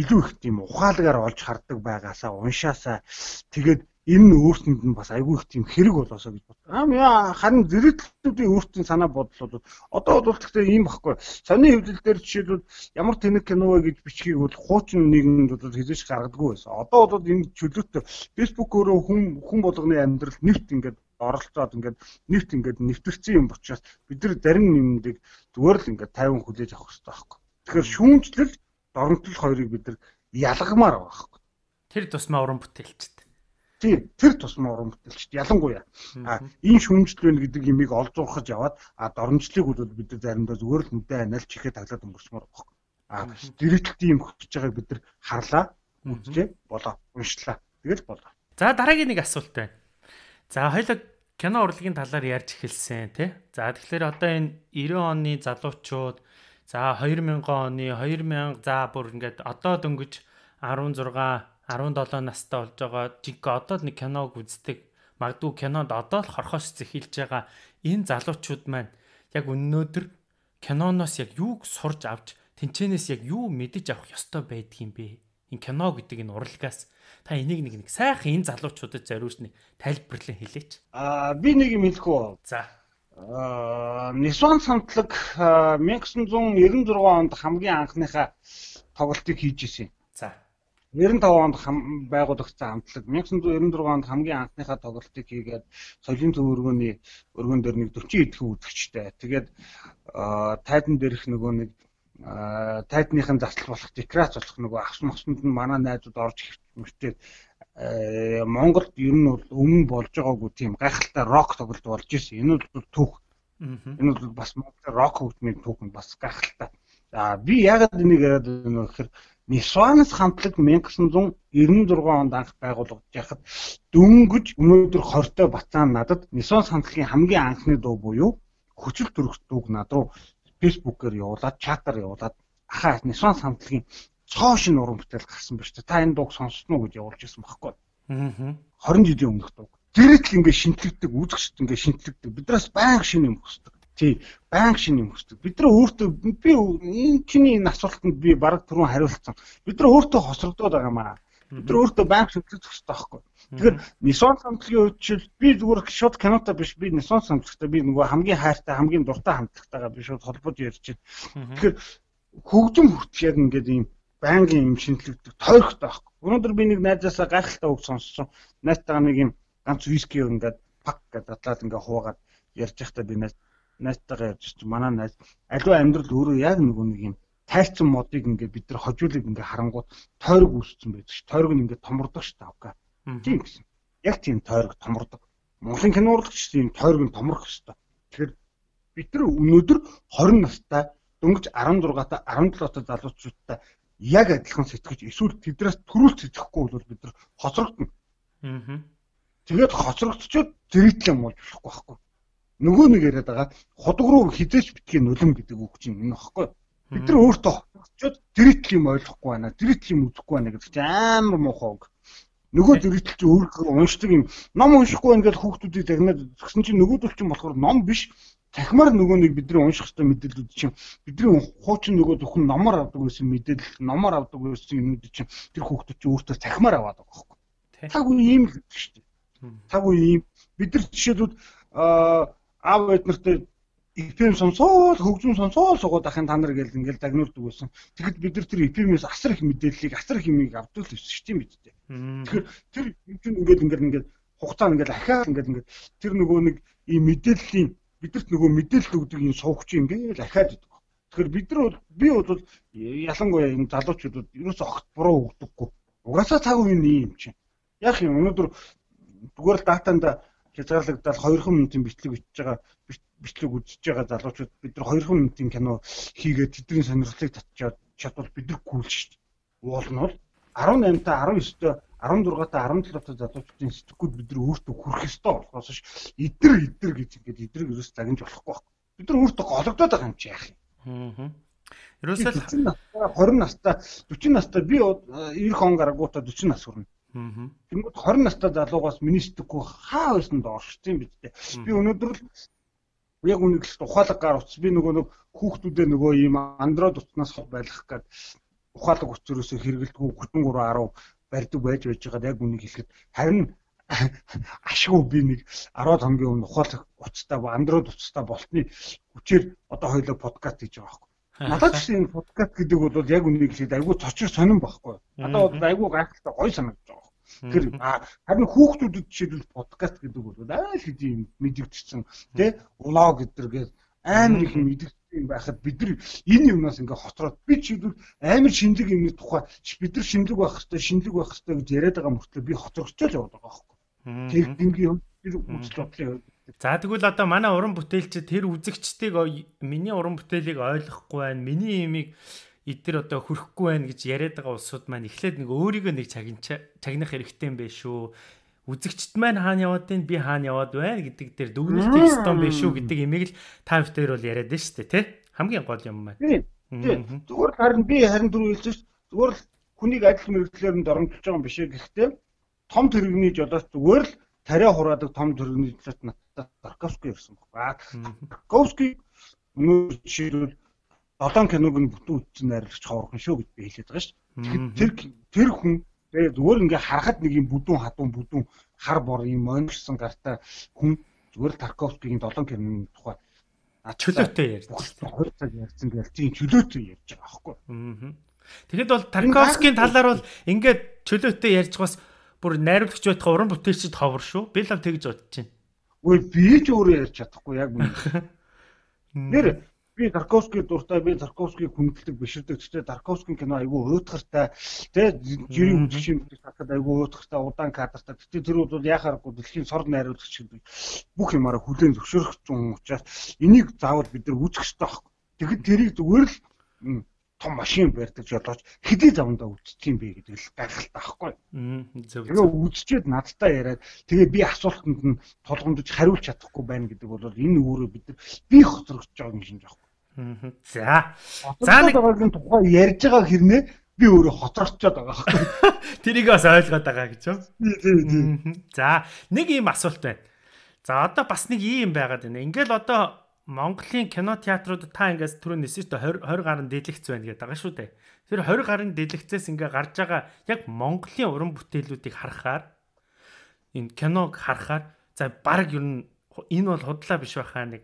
илүү их тийм ухаалгаар олж хардаг байгаасаа уншаасаа тэгээд энэ өөрсөнд нь бас айгүй их тийм хэрэг болоосоо гэж бодлоо. Аа яа харин зэрэгтлүүдийн өөрсдийн санаа бодол бол одоо бол гэхдээ ийм баггүй. Сонины хэвлэл дээр жишээлбэл ямар тэнэг кино вэ гэж бичгийг бол хуучин нэгэнд бол хизээш гаргадаггүй байсан. Одоо бол энэ чөлөөтэй Facebook өөрөө хүн хүн болгоны амьдрал нэвт ингээд оролцоод ингээд нэвт ингээд нэвтэрсэн юм учраас бид нар зарим юмдыг зүгээр л ингээд тайван хүлээж авах хэрэгтэй байхгүй. Тэгэхээр шүүмжлэл доромжлол хоёрыг бид нар ялгамаар байгаа байхгүй. Тэр тусмаа уран бүтээлчд. Тийм, тэр тусмаа уран бүтээлчд ялангуяа. А энэ шүүмжлэл байна гэдэг имийг олж уурхаж яваад а доромжлыг бол бид нар заримдаа зүгээр л нүдэ анаал чихээ таглаад өнгөрсмөр байхгүй. А дэрэгдэлт юм хөтж байгааг бид нар харлаа, үзлээ, болоо, уншлаа. Тэгэл болоо. За дараагийн нэг асуулт байна. За хоёул кино урлагийн талаар ярьж эхэлсэн тий. За тэгэхээр одоо энэ девяносто оны залуучууд за две тысячи оны две тысячи за бүр ингээд одоо дөнгөж16,17 настай болж байгаа жинхэнэ одоо л нэг киног үздэг. Магадгүй кинонд одоо л хорхоос зэхилж байгаа энэ залуучууд маань яг өнөөдөр киноноос яг юуг сурж авч тэнцэнээс яг юу мэдэж авах ёстой байдгийм бэ? Энэ кино гэдэг энэ урлагаас та энийг нэг нэг сайхан энэ залуучуудад зориулж нэг тайлбарлан хэлээч. Аа би нэг юм хэлэх үү? За. Аа Nissan хамтлаг 천구 девяносто шесть онд хамгийн анхныхаа тоглолтыг хийж ирсэн. За. девяносто пять онд байгуулагдсан хамтлаг 천구 девяносто шесть онд хамгийн анхныхаа тоглолтыг хийгээд соёлын төв өргөний өргөн дээр нэг сорок эдхэн үзэгчтэй. Тэгээд тайдан дээрх нөгөө нэг тайдныхын заслал болох декорац болох нөгөө ахс мосонд нь манай найзууд орж ирчээд Монголд ер нь бол өмнө болж байгаагүй тийм гайхалтай рок тоглолт болж ирсэн. Энэ бол түүх. Энэ бол бас Монголын рок хөгжмийн түүх нь бас гайхалтай. За би яагаад энийг яриад байна вэ гэхээр Nissan хамтлаг 천구 девяносто шесть онд анх байгуулагдаж байхад дөнгөж өнөөдөр хортой бацаан надад Nissan хамтлагийн хамгийн анхны дуу буюу хүчил төрөх дууг над руу Facebook-ээр явуулаад, чатаар явуулаад ахаа Nissan хамтлагийн цоо шин уран бүтээл гарсан байна шүү дээ. Та энэ дууг сонссноо гэж явуулж ирсэн байхгүй. Аа. двадцать жилийн өмнөх дуу. Зэрэг л ингээ шинтлэгдэг, үзэгчд ингээ шинтлэгдэг. Биднээс байнга шин юм хүсдэг. Тий, байнга шин юм хүсдэг. Бид нар өөртөө би энэ чиний энэ асуултанд би бараг түрүүн хариулсан. Бид нар өөртөө хосрогдоод байгаа маа. Бид нар өөртөө байнга шинтлэх хэрэгтэй байхгүй. Тэгэхээр Nissan хамтлагийн үед чил би зүгээр шууд кинотой биш, би Nissan хамтлагтай би нөгөө хамгийн хайртай, хамгийн дуртай хамтлагтайгаа би шууд холбож ярьж байна. Тэгэхээр хөгжим хүртэл яг ингээд ийм байнгын юм шинтлэгдэг, тойрогтой байхгүй. Өнөөдөр би нэг найзаасаа гайхалтай үг сонссон. Найзтайгаа нэг юм ганц виски ингээд пак гэдэг дадлаад ингээд хуугаад ярьж байхдаа би найз найзтайгаа ярьж чи манай найз аливаа амьдрал өөрөө яг нөгөө нэг юм тайрцсан модыг ингээд бид нар хожуулыг ингээд харангууд тойрог үүссэн байдаг ш. Тойрог нь ингээд томордог ш таавка. Тийм гэсэн. Яг тийм тойрог томордог. Монголын кино урлагч тийм тойрог нь томрох хэвээр. Тэгэхээр бид нар өнөөдөр двадцать настай дөнгөж шестнадцать та десет та залуучуудтай яг адилхан сэтгэж эсвэл тэдрээс төрүүлж сэтгэхгүй бол бид нар хоцрогдно. Аа. Тэгээд хоцрогдчиход зэрэгтлэн болж болохгүй байхгүй. Нөгөө нэг яриад байгаа худаг руу хизээч битгий нулим гэдэг үг чинь энэ багхгүй. Бид нар өөртөө хоцрогдчиход зэрэгтэл юм ойлгохгүй байна. Зэрэгтэл юм үзэхгүй байна гэдэг чинь амар муухай үг. Нөгөө зэрэгтэл чи өөрөө уншдаг юм. Ном уншихгүй ингээд хүүхдүүдийг загнаад згсэн чинь нөгөөдөл чинь болохоор ном биш. Цахимаар нөгөө нэг бидний унших хэвээр мэдээлүүд чинь бидний хуучин нөгөө зөвхөн номоор авдаг байсан мэдээлэл, номоор авдаг байсан юмнууд чинь тэр хүүхдүүд чинь өөртөө цахимаар аваад байгаа байхгүй. Таг үе ийм л гэдэг шүү дээ. Таг үе ийм бид нар жишээлбэл аав эд нартай эф эм сонсоод хөгжим сонсоод суугаад ахын та нар гэл ингээл дагнуулдаг байсан. Тэгэхэд бид нар тэр эф эм-ээс асар их мэдээллийг, асар их юмыг авдаг л байсан шүү дээ мэд дээ. Тэгэхээр тэр юм чинь ингээл ингээл ингээд хугацаа ингээл ахаад ингээл ингээд тэр нөгөө нэг ийм мэдээллийн бидэрт нөгөө мэдээлэл өгдөг юм суугч юм гээл ахаад идэг. Тэгэхээр бид нар бол би бол ялангуяа энэ залуучуудад ерөөсөө огт буруу өгдөггүй. Угаасаа цаг үеийн юм чинь. Яг юм өнөөдөр зүгээр л датанда хязгаарлагдаад хоёр минутын бичлэг бичиж байгаа бичлэг үзэж байгаа залуучууд бид нар хоёр минутын кино хийгээд тэдний сонирхлыг татчихад чадвал бид нар гүйл шүү дээ. Уул нь бол десемь та десдевь та десунт та десεπτол та залуучуудын сэтгэхүйд бид нар өөртөө хүрэх ёстой болохоос ш идэр идэр гэж ингээд идрэг ерөөс загнаж болохгүй байхгүй. Бид нар өөртөө гологдоод байгаа юм чи яах юм. Аа. Ерөөсөө двадцать настай forty настай би ninety он гарагуудаа forty нас хүрнэ. Аа. Тэнгүүд twenty настай залуугаас миний сэтгэхгүй хаа байсан доорчсон биз дээ. Би өнөөдөр л яг үнэ л ухаалаг гар утас би нөгөө нэг хүүхдүүдээ нөгөө ийм Android утаснаас хол байлгах гээд ухаалаг утсөрөөсөө хэрэгэлдэггүй thirty ten барьдаг байж байж байгаа яг үнийг хэлэхэд харин ашгүй би нэг ten хоногийн өмнө ухаалаг утастай Android утастай болтны хүчээр одоо хоёулаа подкаст хийж байгаа байхгүй. Надад ч энэ подкаст гэдэг бол яг үнийг хэлээд айгүй цочор сонирн байхгүй. Надад бол айгүй гайхалтай гоё санагдаж байгаа. Тэр харин хүүхдүүдэд жишээлбэл подкаст гэдэг бол аа л хэдийн мэдэгдсэн тий влог гэдэргээд амар их мэдэгдсэн байхад бид нар энэ юмнаас ингээ хоцроод би жишээлбэл амар шинэлэг юмны тухай бид нар шинэлэг байх хэвээр шинэлэг байх хэвээр гэж яриад байгаа мөртлөө би хоцрогчтой л яваад байгаа байхгүй. Тэр дингийн юм тэр үзэл бодлоо. За тэгвэл одоо манай уран бүтээлчид тэр үзэгчдийг миний уран бүтээлийг ойлгохгүй байна. Миний имийг эдгээр одоо хөрөхгүй байна гэж яриад байгаа улсууд маань эхлээд нэг өөрийгөө нэг чагнах хэрэгтэй юм байна шүү. Үзэгчд маань хаана яваад байна, би хаана яваад байна гэдэг дээр дүгнэлт хийх ёстой юм байна шүү гэдэг имийг л та бүхэн бол яриад байна шүү дээ, тий? Хамгийн гол юм байна. Тийм. Зүгээр харин би харин дөрөв хэлж шүү. Зүгээр л хүнийг адил мэрэгчлэр нь доромжилж байгаа юм биш ээ. Гэхдээ том тэрэгний жолооч зүгээр л тариа хураадаг том тэрэгний жолооч надад Тарковский ирсэн баг. Тарковский өнөө жишээлбэл долоон киног нь бүтэн үзсэн найруулагч ховорхон шүү гэж би хэлээд байгаа шүү. Тэр тэр хүн тэгээ зүгээр ингээ харахад нэг юм бүдүүн хадуун бүдүүн хар бор юм онцлсон гартай хүн зүгээр Тарковскигийн долоон киноны тухай чөлөөтэй ярьж хоёр цаг ярьсан гэж тийм чөлөөтэй ярьж байгаа аахгүй. Тэгэхэд бол Тарковскийн талаар бол ингээд чөлөөтэй ярьж байгаас бүр найруулагч байтугай уран бүтээлчд ховор шүү. Би л тэгж бодож байна. Үгүй би ч өөрөө ярьж чадахгүй яг үнэ. Нэр би Тарковский дуртай, би Тарковскийг хүндэлдэг биширдэг. Гэхдээ Тарковскийн кино айгүй уйтгартай, тэ жирийн үжигшин татад айгүй уйтгартай, удаан кадртай. Гэхдээ тэр бол яхааргүй дэлхийн сор найруулагч гэдэг бүх юмараа хүлээн зөвшөөрөх зүүн учраас энийг заавал бид нар үзэх хэрэгтэй байхгүй. Тэгэхэд тэрийг зүгээр л том машин барьдаг жолооч хэдий завандаа үзчих юм бэ гэдэг л гайхалтай байхгүй. Тэгээ үзчихэд надтай яриад тэгээ би асуултанд нь толгомдож хариулж чадахгүй байна гэдэг бол энэ өөрөө бид нар би хоцрогдож байгаа юм шиг байхгүй. За. За нэг байгаагийн тухай ярьж байгаа хэрнээ би өөрөө хоцрогдчиход байгаа байхгүй. Тэрийг бас ойлгоод байгаа гэж юу? За, нэг ийм асуулт байна. За, одоо бас нэг ийм байгаад байна. Ингээл одоо Монголын кино театруудад та ингээс түрүү нисэж тө тwenty гаруй дэлгэц байна гэдэг байгаа шүү дээ. Тэр twenty гаруй дэлгэцээс ингээ гарч байгаа яг Монголын уран бүтээлүүдийг харахаар энэ киног харахаар за баг ер нь энэ бол худлаа биш байхаа нэг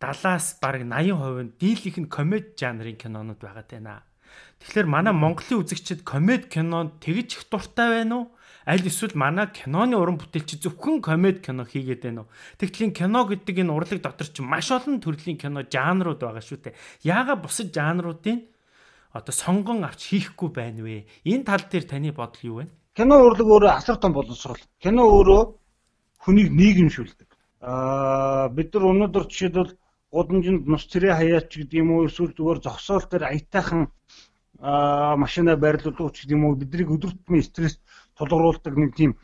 seventy-аас баг eighty percent нь дийлийнх нь комеди жанрын кинонууд байгаа тайна. Тэгэхээр манай Монголын үзэгчид комеди кинонд тэгж их дуртай байна уу? Аль эсвэл манай киноны уран бүтээлч зөвхөн комеди кино хийгээд байна уу? Тэгтлийн кино гэдэг энэ урлаг дотор ч маш олон төрлийн кино жанрууд байгаа шүү дээ. Яагаад бусад жанруудын одоо сонгон авч хийхгүй байна вэ? Энэ тал дээр таны бодол юу вэ? Кино урлаг өөрөө асар том боловсрол. Кино өөрөө хүнийг нийгэмшүүлдэг. Аа бид нар өнөөдөр жишээлбэл гудамжинд нус цэрээ хаяач гэдэг юм уу эсвэл зүгээр зогсоол дээр аятайхан аа машина байрлуулдаг ч гэдэг юм уу биднийг өдөр тутмын стресс тулгаруулдаг нэг тийм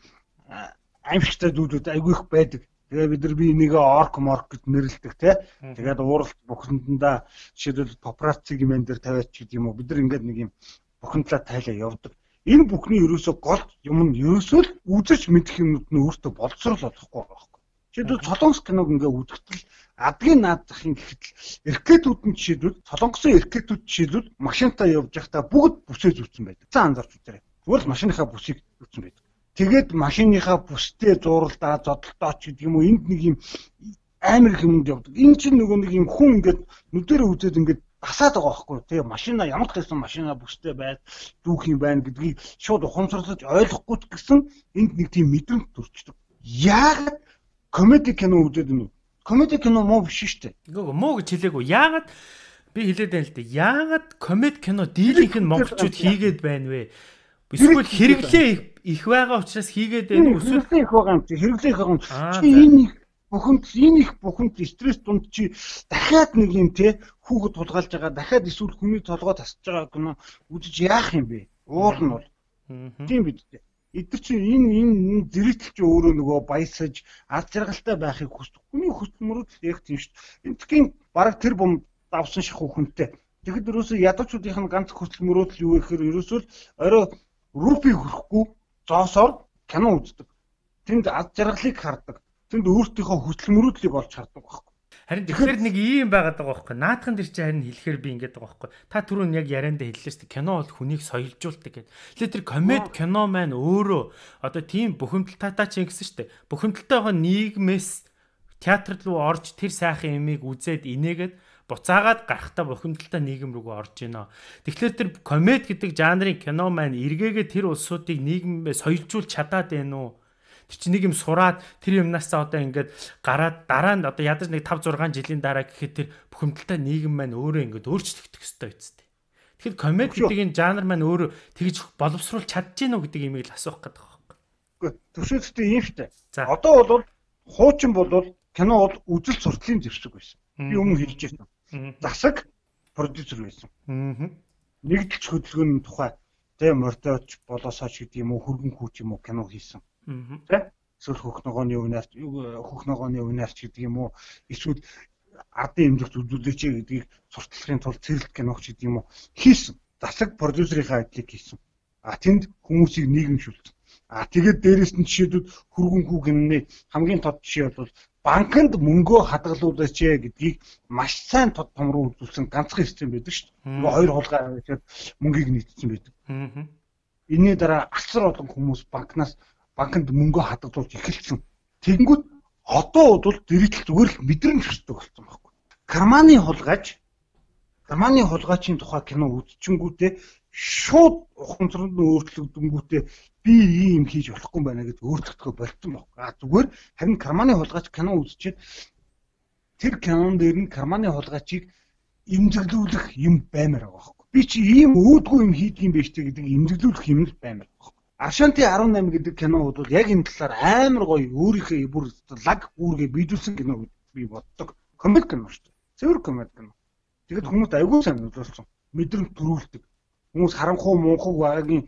аимшигтай зүйлүүд айгүй их байдаг. Тэгээ бид нар би энийг орк морк гэж нэрлэдэг тий. Тэгээд ууралт бухимдандаа жишээлбэл папарацци гэмэн дээр тавиач гэдэг юм уу бид нар ингээд нэг юм бухимдлаа тайлаа явдаг. Энэ бүхний ерөөсөө гол юм нь ерөөсөө л үзэж мэдэх юмнууд нь өөртөө боловсрол болохгүй байгаа байхгүй. Жишээлбэл Солонгос киног ингээд үзэхдээ адгийн наад захын гэхэд эркетүүд нь жишээлбэл Солонгосын эркетүүд жишээлбэл машинтаа явж байхдаа бүгд бүсээ зүүцсэн байдаг. За анзаарч үзээрэй. Зүгээр л машиныхаа бүсийг зүүцсэн байдаг. Тэгээд машиныхаа бүстэй зууралдаа зодолтоо ч гэдэг юм уу энд нэг юм амар юмд явдаг. Энэ чинь нөгөө нэг юм хүн ингээд нүдэрээ үзээд ингээд тасаад байгаа байхгүй. Тэгээ машина ямар ч гэсэн машина бүстэй байд дүүх юм байна гэдгийг шууд ухамсарлаж ойлгохгүй ч гэсэн энд нэг тийм мэдрэмж төрчдөг. Яагаад комеди кино үзээд юм бэ? Комеди кино муу биш шүү дээ. Үгүй муу гэж хэлээгүй. Яагаад би хэлээд байна л дээ. Яагаад комеди кино дийлийнх нь монголчууд хийгээд байна вэ? Эсвэл хэрэглээ их байгаа учраас хийгээд байна уу? Эсвэл их байгаа юм чи хэрэглээ их байгаа юм. Чи энэ их бухимд энэ их бухимд стресс дунд чи дахиад нэг юм те хүүхэд тулгаалж байгаа дахиад эсвэл хүний толгой тасч байгаа кино үзэж яах юм бэ? Уул нь бол. Тийм биз дээ. Эдгээр чи энэ энэ зэрэгтэл чи өөрөө нөгөө баясаж аз жаргалтай байхыг хүсдэг. Хүний хөдөлмөрүүд яг тийм шүү дээ. Энэ тхийн бараг тэр бом давсан шахуу хүнтэй. Тэгэхэд ерөөсөө ядуучуудынх нь ганц хөдөлмөрүүд л юу гэхээр ерөөсөө л орой рупи хөрөхгүй зоосоор кино үздэг. Тэнд аз жаргалыг хардаг. Тэнд өөртөөхөө хөдөлмөрүүдлийг олж хардаг байхгүй. Харин тэгэхээр нэг ийм байгаад байгаа байхгүй. Наадхан дэр чи харин хэлэхээр би ингэж байгаа байхгүй. Та түрүүн яг яриандаа хэллээ шүү дээ. Кино бол хүнийг соёлжуулдаг гэдэг. Тэгэхээр тэр комеди кино маань өөрөө одоо тийм бухимдалтай ч ингэсэн шүү дээ. Бухимдалтай байгаа нийгмээс театр руу орж тэр сайхан юмыг үзээд инээгээд буцаагаад гарахтаа бухимдалтай нийгэм рүүгээ орж ийнэ. Тэгэхээр тэр комеди гэдэг жанрын кино маань эргээгээ тэр улсуудыг нийгэмээ соёлжуулж чадаад байна уу? Тэр чинь нэг юм сураад тэр юмнасаа одоо ингээд гараад дараа нь одоо ядаж нэг five six жилийн дараа гэхэд тэр бухимдалтай нийгэм маань өөрөө ингээд өөрчлөгдөх ёстой үсттэй. Тэгэхээр комеди гэдэг энэ жанр маань өөрөө тэгж боловсруулж чадчихэв үү гэдэг имийг л асуух гэдэг байна. Үгүй төсөөдтэй юм шттэ. Одоо бол хуучин бол кино бол үзэл сурталын зэвсэг байсан. Би өмнө хэлж байсан. Засаг продюсер байсан. Нэгдэлч хөдөлгөөний тухай тэ мортооч болоосооч гэдэг юм уу хөргөн хүүч юм уу кино хийсэн. Тэ эсвэл хөх ногооны өвнарч хөх ногооны өвнарч гэдэг юм уу эсвэл ардын эмзэгт үзүүлээч гэдгийг сурталчилахын тулд цэрлэг киногч гэдэг юм уу хийсэн. Засаг продюсерийнхаа ажлыг хийсэн. А тэнд хүмүүсийг нийгэмшүүлсэн. А тэгээд дээрэс нь жишээлбэл хөргөнхүү гэмнэ хамгийн тод жишээ бол банкнд мөнгөө хадгалуулаач гэдгийг маш сайн тод том руу үзүүлсэн ганцхан систем байдаг шүү дээ. Нөгөө хоёр хулгай аваад мөнгийг нийтсэн байдаг. Энийн дараа асар олон хүмүүс банкнаас банкнд мөнгөө хадгалуулж эхэлсэн. Тэгэнгүүт одоо бол дэрэгдэл зүгээр л мэдрэмж өсдөг болсон байхгүй. Карманы хулгайч Карманы хулгайчийн тухай кино үзчихэнгүүтээ шууд ухамсарт өөрчлөгдөнгүүтээ би ийм хийж болохгүй байна гэж өөрчлөгдөхө болцсон баг. А зүгээр харин Карманы хулгайч кино үзчихэд тэр кинон дээр нь Карманы хулгайчийг имзэглүүлэх юм баймаар байгаа байхгүй. Би чи ийм өөдгөө юм хийдэг юм биш үү гэдэг имзэглүүлэх юм л баймаар байгаа. Ашанти дөрвөн найман гэдэг кино бол яг энэ талаар амар гоё өөрийнхөө бүр лаг үүргээ биелүүлсэн кино би боддог. Комеди кино шүү дээ. Цэвэр комеди кино. Тэгэд хүмүүс айгүй сайн үзүүлсэн. Мэдрэмж төрүүлдэг. Хүмүүс харанхуу мунхаг багийн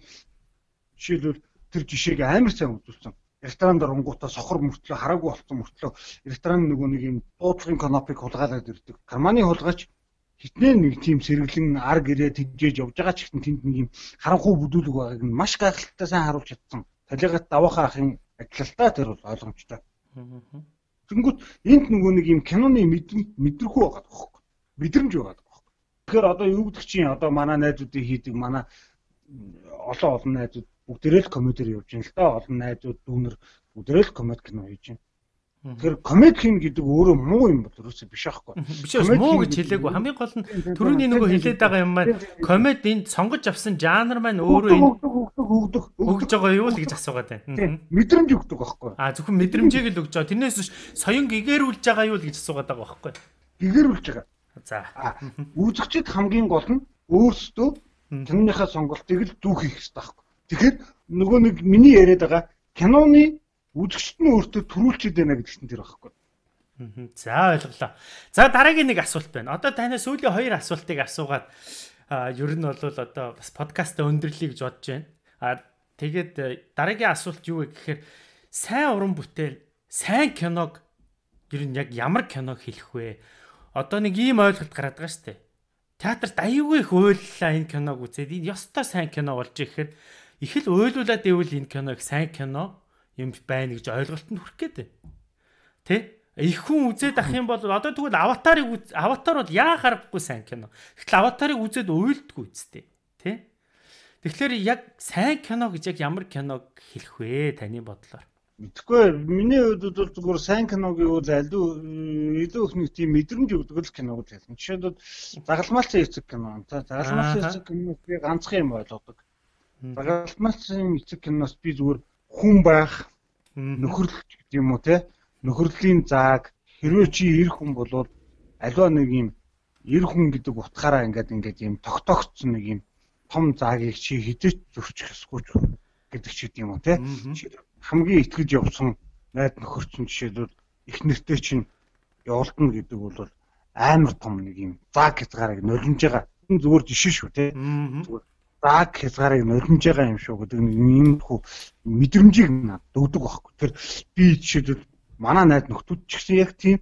жишээлбэл тэр жишээг амар сайн үзүүлсэн. Ресторанд оронгуудаа сохор мөртлөө хараагүй болсон мөртлөө ресторан нөгөө нэг юм дуудлагын канапыг хулгайлаад ирдэг. Карманы хулгайч хитнээ нэг тийм сэргэлэн ар гэрээ тэжээж явж байгаа ч гэсэн тэнд нэг юм харанхуу бүдүүлэг байгааг нь маш гайхалтай сайн харуулж чадсан. Талигаад даваахаа ахын ажилтаа тэр бол ойлгомжтой. Тэнгүүт энд нөгөө нэг юм киноны мэдрэмхүү байгаа байхгүй. Мэдрэмж байгаа байхгүй. Тэгэхээр одоо юу гэдэг чинь одоо манай найзуудыг хийдэг манай олон олон найзууд бүгдээрээ л комедиэр явж байна л да. Олон найзууд дүүнер бүгдээрээ л комеди кино хийж байна. Тэгэхээр комеди хин гэдэг өөрөө муу юм бол ерөөсөө биш аахгүй. Биш ээ муу гэж хэлээгүй. Хамгийн гол нь түрүүний нөгөө хэлээд байгаа юм маань комеди энд сонгож авсан жанр маань өөрөө энэ өгдөг өгж байгаа юу л гэж асуугаад байна. Мэдрэмж өгдөг байхгүй. А зөвхөн мэдрэмжийг л өгж байгаа. Тэрнээс биш соён гэгэрүүлж байгаа юу л гэж асуугаад байгаа байхгүй. Гэгэрүүлж байгаа. За. Үзэгчд хамгийн гол нь өөрсдөө киноныхаа сонголтыг л дүүх хийх хэрэгтэй байхгүй. Тэгэхээр нөгөө нэг миний яриад байгаа киноны үзэгчд нь өөртөө төрүүлчихэд байна гэдэгт тэр байхгүй. За ойлголоо. За дараагийн нэг асуулт байна. Одоо танаас сүүлийн хоёр асуултыг асуугаад ер нь бол одоо бас подкастаа өндөрлөе гэж бодож байна. А тэгээд дараагийн асуулт юу вэ гэхээр сайн уран бүтээл, сайн киног ер нь яг ямар киног хэлэх вэ? Одоо нэг ийм ойлголт гараад байгаа шүү дээ. Театрт аюулгүй их уйллаа энэ киног үзээд энэ ёстой сайн кино болж ирэхээр их л уйлуулад ивэл энэ киног сайн кино юм байна гэж ойлголтод хүрэх гээд. Тэ? Их хүн үзээд ах юм бол одоо тэгвэл аватарыг аватар бол яа харахгүй сайн кино. Гэтэл аватарыг үзээд уйлдгүй үстэй. Тэ? Тэгэхээр яг сайн кино гэж яг ямар киног хэлэх вэ таны бодлоор? Мэдхгүй миний хувьд бол зүгээр сайн киног юу зайлдуу илүү их нэг тийм мэдрэмж өгдөг л киног л хэлнэ. Жишээлбэл загалмайлсан эцэг кино. Загалмайлсан эцэг киног би ганцхан юм ойлгодог. Загалмайлсан эцэг киноос би зүгээр хүн байх, нөхөрлөл гэдэг юм уу те? Нөхөрлийн зааг хэрвээ чи эр хүн болвол аливаа нэг юм эр хүн гэдэг утгаараа ингээд ингээд юм тогтоогдсон нэг юм том заагийг чи хідэж зөрчих ёсгүй гэдэг ч гэдэг юм уу те? Хамгийн итгэж явсан найд нөхөрчин жишээлбэл их нэртэй чинь явуулна гэдэг бол амар том нэг юм зааг хязгаарыг нулимж байгаа. Энэ зүгээр жишээ шүү те. Зүгээр зааг хязгаарыг нулимж байгаа юм шүү гэдэг нэг юм хүү мэдрэмжийг надад өгдөг байхгүй. Тэр би жишээлбэл манай найд нөхдүүд ч гэсэн яг тийм.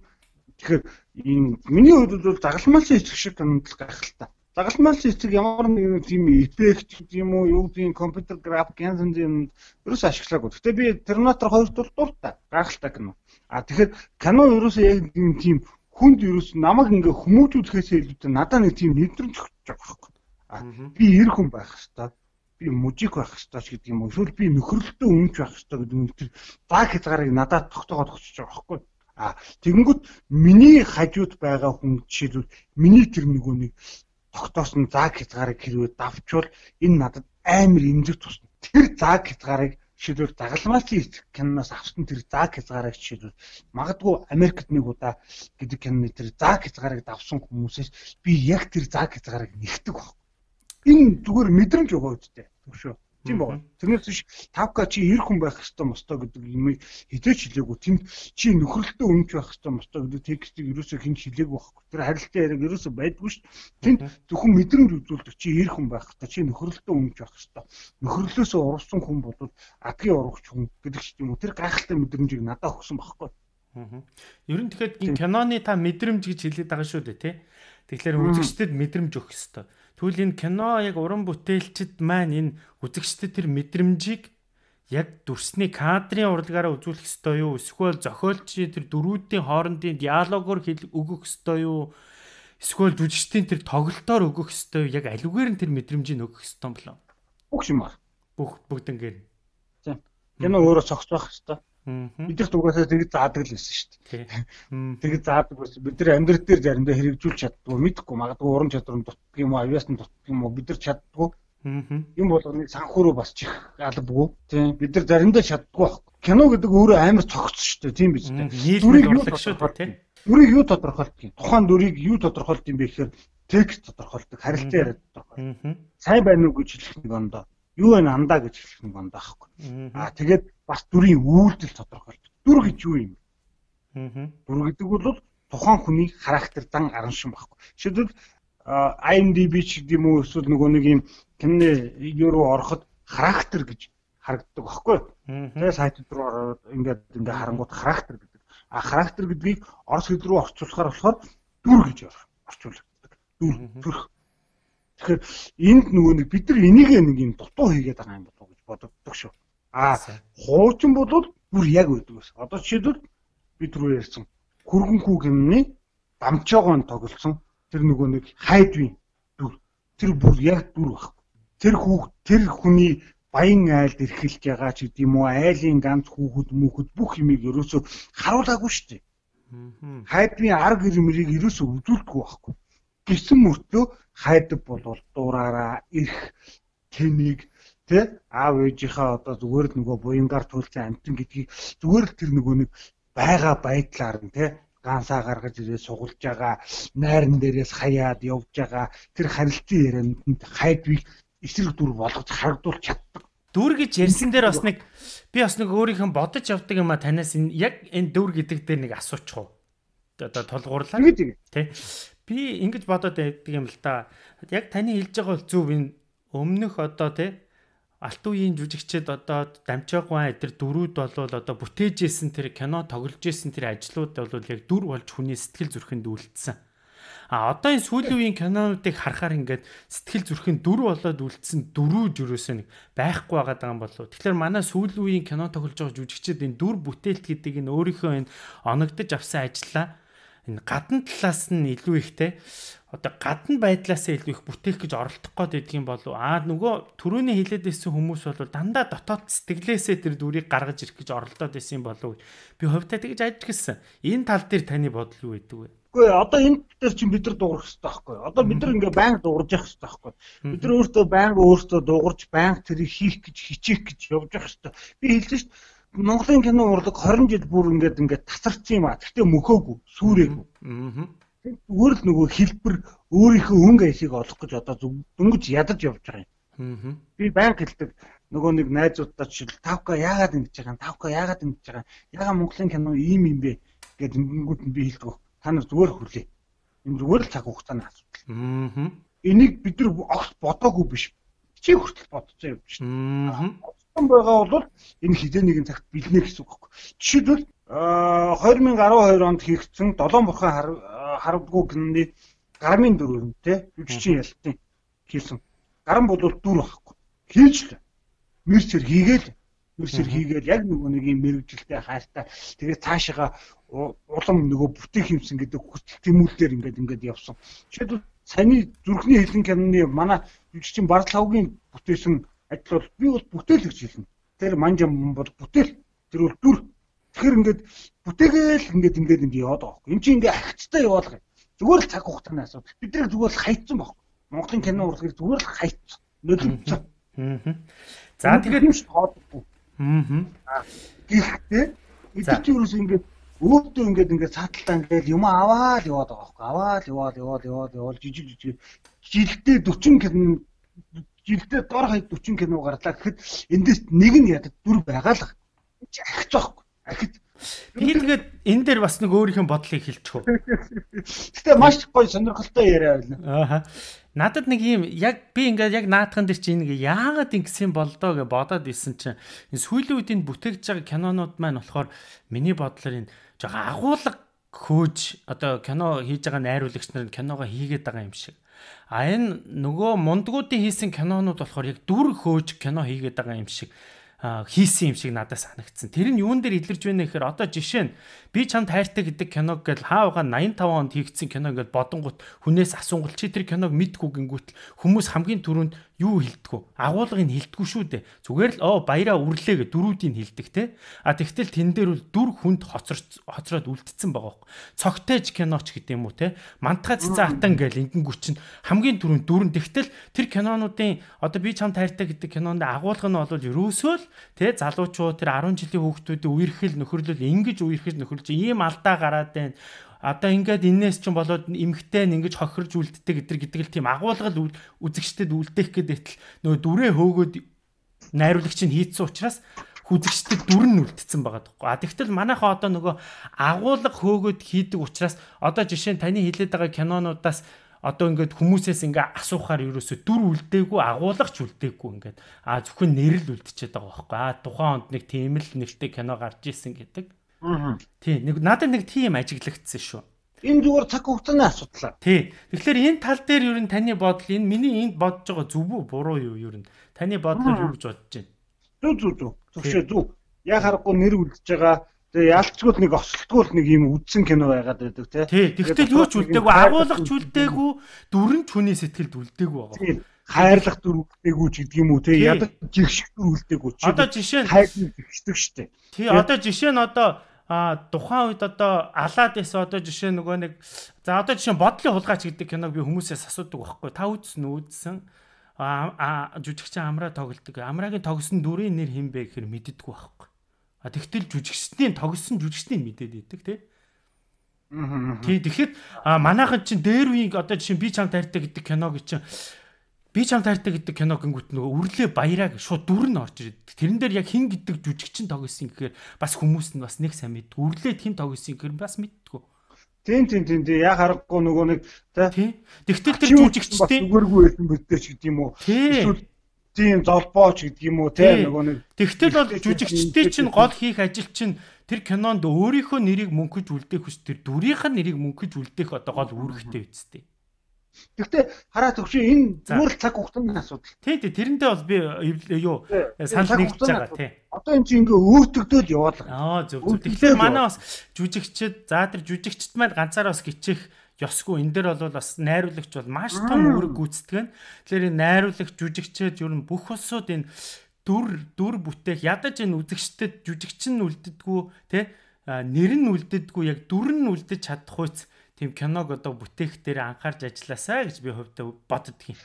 Тэгэхээр энэ миний хувьд бол загалмайлсан эцэг шиг томдол гайхалтай. Загалмайлсан эцэг ямар нэг тийм эффект юм уу юу тийм компьютер график янз янзын ерөөс ашиглаагүй. Гэтэ би Терминатор хоёрт бол дуртай гайхалтай кино. А тэгэхээр кино ерөөсөө яг тийм хүнд ерөөс намайг ингээ хүмүүжүүлэхээс илүү надад нэг тийм мэдрэмж өгч байгаа байхгүй. А би эр хүн байх хэвээр би мужик байх хэвээр ч гэдэг юм уу. Эсвэл би нөхөрлөлтөө өмч байх хэвээр гэдэг нь тэр баг хязгаарыг надад тогтоогоод өгч байгаа байхгүй. А тэгэнгүүт миний хажууд байгаа хүн жишээлбэл миний тэр нөгөө нэг тогтоосон зааг хязгаарыг хэрвээ давчвал энэ надад амар эмзэг тусна. Тэр зааг хязгаарыг жишээлбэл загалмайлсан эцэг киноноос авсан тэр зааг хязгаарыг жишээлбэл магадгүй Америкт нэг удаа гэдэг киноны тэр зааг хязгаарыг давсан хүмүүсээс би яг тэр зааг хязгаарыг нэгтгэдэг баг. Энэ зүгээр мэдрэмж өгөө үстэй. Түгшөө. Тийм байна. Тэрнээс биш тавка чи эр хүн байх ёстой мостой гэдэг юм хизээч хэлээгүй. Тэнд чи нөхөрлөлтөө өмч байх ёстой мостой гэдэг текстийг ерөөсөө хэн хэлээгүй байхгүй. Тэр харилцан яриаг ерөөсөө байдгүй шүү дээ. Тэнд зөвхөн мэдрэмж үзүүлдэг чи эр хүн байх ёстой. Чи нөхөрлөлтөө өмч байх ёстой. Нөхөрлөлөөсөө урвсан хүн бол адгийн урагч хүн гэдэг ч юм уу. Тэр гайхалтай мэдрэмжийг надад өгсөн байхгүй. Аа. Ер нь тэгэхээр энэ киноны та мэдрэмж гэж хэлээд байгаа шүү дээ, тий? Тэгэхээр үзэгчдэд мэдрэмж өгөх ёстой. Тэгвэл энэ кино яг уран бүтээлчд маань энэ үзэгчдэд тэр мэдрэмжийг яг дүрсний кадрын урлагаараа үзүүлэх ёстой юу? Эсвэл зохиолчийн тэр дөрүүдийн хоорондын диалогоор өгөх ёстой юу? Эсвэл жүжигчдийн тэр тоглолтоор өгөх ёстой юу? Яг аливаар нь тэр мэдрэмжийг өгөх ёстой юм болоо. Бүх юм байна. Бүх бүгднгээр. Тийм. Кино өөрөө цогцох ёстой. Аа. Бид их дугасаа тэгж заадаг л байсан шүү дээ. Тийм. Тэгж заадаг байсан. Бид нар амьдрал дээр заримдаа хэрэгжүүлж чаддгүй, мэдхгүй магадгүй уран чадвар нь дутдаг юм уу, авиасны дутдаг юм уу бид нар чаддгүй. Аа. Юм болгоныг санхүүрөө бас чих албагүй. Тийм. Бид нар заримдаа чаддгүй байхгүй. Кино гэдэг өөрөө амар цогцсон шүү дээ. Тийм биз дээ. Дүрийг юу шүү дээ, тийм. Дүрийг юу тодорхойлдог юм? Тухайн дүрийг юу тодорхойлдог юм бэ гэхээр текст тодорхойлдог, харилцаа яриад тодорхойлдог. Аа. Сайн байна уу гэж хэлэх нэг ондоо. Юу вэ андаа гэж хэлэх нэг ондоо байхгүй. Аа тэгээд бас дүрийн үйлдэл тодорхойлдог. Дүр гэж юу юм? Аа. Дүр гэдэг бол тухайн хүний характер дан аран шин байхгүй. Жишээлбэл I M D B ч гэдэг юм уу эсвэл нөгөө нэг юм киноны юу руу ороход характер гэж харагддаг байхгүй. Тэгээ сайтууд руу ороод ингээд ингээ харангууд характер гэдэг. А характер гэдгийг орос хэл рүү орчуулахаар болохоор дүр гэж орчуулдаг. Дүр төрх. Тэгэхээр энд нөгөө нэг бид нар энийг нэг юм дутуу хийгээд байгаа юм болов уу гэж боддог шүү. А хуучин бол бүр яг байдаг ус. Одоо жишээлбэл бид рүү ярьсан хөргөнхүү гэмний дамжоогоон тоглосон тэр нөгөө нэг хайдвийн дүр. Тэр бүр яг дүр байхгүй. Тэр хүүхд тэр хүний баян айлд эрхэлж байгаа ч гэдэм үү айлын ганц хүүхэд мөхөд бүх юмыг ерөөсөө харуулаагүй шүү дээ. Хайдвийн арга ирмэрийг ерөөсөө үзүүлдэггүй байхгүй. Гисэн мөртлөө хайдаг бол дуураараа ирэх тэнийг тэ аав ээжийнхаа одоо зүгээр л нөгөө буянгаар туйлсан амтан гэдгийг зүгээр л тэр нөгөө нэг байгаа байдлаар нь тэ гансаа гаргаж ирээ сугалж байгаа найран дээрээс хаяад явж байгаа тэр харилцан ярианд хайдвийг эсрэг дүр болгож харагдуулж чаддаг. Дүр гэж ярьсан дээр бас нэг би бас нэг өөрийнхөө бодож явдаг юм а танаас энэ яг энэ дүр гэдэг дээр нэг асуучих уу. Одоо толгуурлаа. Тэ. Би ингэж бодоод байдаг юм л да. Яг таны хэлж байгаа бол зөв энэ өмнөх одоо тэ алт үеийн жүжигчид одоо дамжаагүй эдэр дөрүүд болвол одоо бүтээж исэн тэр кино тоглож исэн тэр ажлууд бол яг дүр болж хүний сэтгэл зүрхэнд үлдсэн. А одоо энэ сүүлийн үеийн кинонуудыг харахаар ингээд сэтгэл зүрхэн дүр болоод үлдсэн дөрүү жирөөсөө нэг байхгүй байгаа юм болов. Тэгэхээр манай сүүлийн үеийн кино тоглож байгаа жүжигчид энэ дүр бүтээлт гэдэг энэ өөрийнхөө энэ оногдож авсан ажлаа энэ гадна талаас нь илүү ихтэй одоо гадна байдлаасаа илүү их бүтээх гэж оролдох гээд байдаг юм болов. Аа нөгөө түрүүний хэлээд байсан хүмүүс бол дандаа дотоод сэтгэлээсээ тэр дүрийг гаргаж ирэх гэж оролдоод байсан юм болов. Би хувьдаа тэгж ажигласан. Энэ тал дээр таны бодол юу байдаг вэ? Үгүй одоо энэ дээр чинь бид нар дуурах хэрэгтэй байхгүй. Одоо бид нар ингээ байнга дуурж явах хэрэгтэй байхгүй. Бид нар өөртөө байнга өөртөө дуурж байнга тэрийг хийх гэж хичээх гэж явж явах хэрэгтэй. Би хэлсэн шүү дээ. Монголын кино урлаг хорин жил бүр ингээд ингээд тасарсан юм а. Гэхдээ мөхөөгүй, сүрээгүй. Аа. Зүгээр л нөгөө хэлбэр өөрийнхөө өнгө аясыг олох гэж одоо дөнгөж ядаж явж байгаа юм. Аа. Би байнга хэлдэг нөгөө нэг найзуудтай жишээл тавка яагаад ингэж байгаа юм? Тавка яагаад ингэж байгаа юм? Яагаад Монголын кино ийм юм бэ гэдэг ингэнгүүт нь би хэлдэг. Та нар зүгээр хүлээ. Энэ зүгээр л цаг хугацааны асуудал. Аа. Энийг бид нар огт бодоогүй биш. Чи хүртэл бодцоо явж байна. Аа. Одсон байгаа бол энэ хизээ нэгэн цагт бэлнэ гэсэн үг байхгүй. Жишээлбэл две тысячи twelve онд хийгдсэн Долоон бурхан харавдгүй киноны Гармын дөрөв те жүжигчин ялтын хийсэн. Гарам бол дүр байхгүй. Хийж л мэрчэр хийгээл мэрчэр хийгээл яг нөгөө нэг юм мэрэгжилтэй хайртай тэгээд цаашаага улам нөгөө бүтээх юмсан гэдэг хүсэл тэмүүлэлээр ингээд ингээд явсан. Жишээлбэл саяны зүрхний хэлэн киноны манай жүжигчин Барлавгийн бүтээсэн ажил бол би бол бүтээл гэж хэлнэ. Тэр манжам бол бүтээл. Тэр бол дүр. Тэгэхээр ингээд бүтээгээл ингээд ингээд ингээд яваад байгаа юм. Энд чинь ингээд ахицтай яваалгаа. Зүгээр л цаг хугацааны асуудал. Бид нар зүгээр л хайцсан баг. Монголын кино урлагийг зүгээр л хайцсан. Нөлөөлсөн. Аа. За тэгээд юм шиг тоодохгүй. Аа. Гэхдээ эдгээр чинь юус ингээд өөртөө ингээд ингээд цааталтаа ингээд юм аваад яваад байгаа байхгүй. Аваад яваад яваад яваад яваад жижиг жижиг жилдээ forty кино жилдээ дор хаяг forty кино гарлаа гэхэд эндээс нэг нь ядад дүр байгаа л. Ахиж байхгүй. Ахиж. Би тэгээд энэ дээр бас нэг өөрийнхөө бодлыг хэлчих үү. Гэтэ маш гоё сонирхолтой яриа байлаа. Ааха. Надад нэг юм яг би ингээд яг наадхан дээр чинь ингээ яагаад ингэсэн болдоо гэж бодоод исэн чинь энэ сүүлийн үед энэ бүтээгдэж байгаа кинонууд маань болохоор миний бодлоор энэ жоо агуулга хөөж одоо кино хийж байгаа найруулагч нар киногоо хийгээд байгаа юм шиг. А энэ нөгөө мундгуудын хийсэн кинонууд болохоор яг дүр хөөж кино хийгээд байгаа юм шиг хийсэн юм шиг надад санагдсан. Тэр нь юун дээр илэрж байна гэхээр одоо жишээ нь би чамд хайртай гэдэг киног гэл хаавга найман таван онд хийгдсэн кино ингээд бодонгууд хүнээс асуунгууд чи тэр киног мэдгүй гингүүтэл хүмүүс хамгийн түрүүнд юу хэлдэггүй агуулгыг хэлдэггүй шүү дээ. Зүгээр л оо баяраа үрлээ гэ дөрүүдийг хэлдэг те. А тэгтэл тэн дээр бол дүр хүнд хоцорч хоцроод үлдсэн байгаа байхгүй. Цогтойж киноч гэдэг юм уу те. Мантга цэцэн атан гэл ингэнгүү чинь хамгийн түрүүнд дүрэн тэгтэл тэр кинонуудын одоо би чамд хайртай гэдэг кинонд агуулга нь бол ерөөсөө л тэ залуучууд тэр арван жилийн хүүхдүүдийн үерхэл нөхөрлөл ингэж үерхэж нөхөрлж ийм алдаа гараад байна. Одоо ингээд энээс ч болоод эмхтэй нь ингэж хохирж үлддэг гэдэр гэдэг л тийм агуулгал үзэгчдэд үлдээх гэдэг нөгөө дүрээ хөөгөөд найруулагч нь хийцсэн учраас үзэгчдэд дүр нь үлдсэн байгаа тоххой. А тэгтэл манайхаа одоо нөгөө агуулга хөөгөөд хийдэг учраас одоо жишээ нь таны хэлээд байгаа кинонуудаас одоо ингээд хүмүүсээс ингээ асуухаар ерөөсө дүр үлдээгүй агуулгач үлдээгүй ингээд а зөвхөн нэр л үлдчихэд байгаа байхгүй а тухайн онд нэг тийм л нэртэй кино гарч ирсэн гэдэг. Аа. Тий, нэг надад нэг тийм ажиглагдсан шүү. Энэ зүгээр цаг хугацааны асуудал. Тий. Тэгэхээр энэ тал дээр ер нь таны бодол энэ миний энд бодож байгаа зөв үү буруу юу ер нь таны бодлоор юу гэж бодож байна? Зүг зүг зүг. Зөвшөө зүг. Яг харахгүй нэр үлдэж байгаа. Тэгээ ялцгүй нэг осолтгүй нэг юм үдсэн кино байгаад байдаг тий. Тий. Тэгтэл юу ч үлдээгүй, агуулгач үлдээгүй, дүрэн хүний сэтгэлд үлдээгүй байгаа. Хайрлах дүр үлдээгүй ч гэдэг юм уу тий. Ядаж жигших дүр үлдээгүй ч. Одоо жишээ нь хайрыг жигшдэг штэ. Тий. Одоо жишээ нь одоо а тухайн үед одоо алаад байсан одоо жишээ нөгөө нэг за одоо жишээ бодлын хулгайч гэдэг киног би хүмүүсээс асуудаг байхгүй. Та үзсэн үү? Үзсэн. А жүжигчин амраа тоглодог. Амраагийн тогсон дүрийн нэр хэн бэ гэхээр мэддэггүй байхгүй. А тэгтэл жүжигчдийн тогсон жүжигчдийн мэдээд идэг тий. Аа. Тий тэгэхэд манайхан чинь дээр үеийг одоо жишээ би чамд хайртай гэдэг киног чинь би чамд хайртай гэдэг кино гингүүт нөгөө үрлээ баяраа шууд дүр нь орж ирээд тэрэн дээр яг хин гэдэг жүжигчин тогсон гэхээр бас хүмүүс нь бас нэг сайн мэд. Үрлээд хин тогсон гэхээр бас мэдтгүү. Тийм тийм тийм тийм яг харахгүй нөгөө нэг тий. Тэгтэл тэр жүжигчдийн зүгээргүй байсан бөдтэй ч гэдэг юм уу. Эсвэл тийм золбооч гэдэг юм уу тий нөгөө нэг. Тэгтэл бол жүжигчдийн чинь гол хийх ажил чинь тэр кинонд өөрийнхөө нэрийг мөнхөж үлдээх хүс тэр дүрийнх нь нэрийг мөнхөж үлдээх одоо гол үүрэгтэй үсттэй. Гэхдээ хараа төгшөө энэ зүгээр л цаг хугацааны асуудал. Тий, тий, тэрэндээ бол би юу санал нэгж байгаа тий. Одоо энэ чинь ингээ өөртөгдөөл яваалаа. Аа зөв зөв. Тэгэхээр манай бас жүжигчд за тэр жүжигчд маань ганцаараа бас гिचэх ёсгүй. Энэ дээр бол бас найруулагч бол маш том үүрэг гүйцэтгэв. Тэгэхээр энэ найруулагч жүжигчд ер нь бүх улсууд энэ дүр дүр бүтээх ядаж энэ үзэгчдэд жүжигчин нь үлддэггүй тий нэр нь үлддэггүй яг дүр нь үлдэж чадах үйс тийм киног одоо бүтээх дээр анхаарч ажилласаа гэж би хувьдаа боддог юм.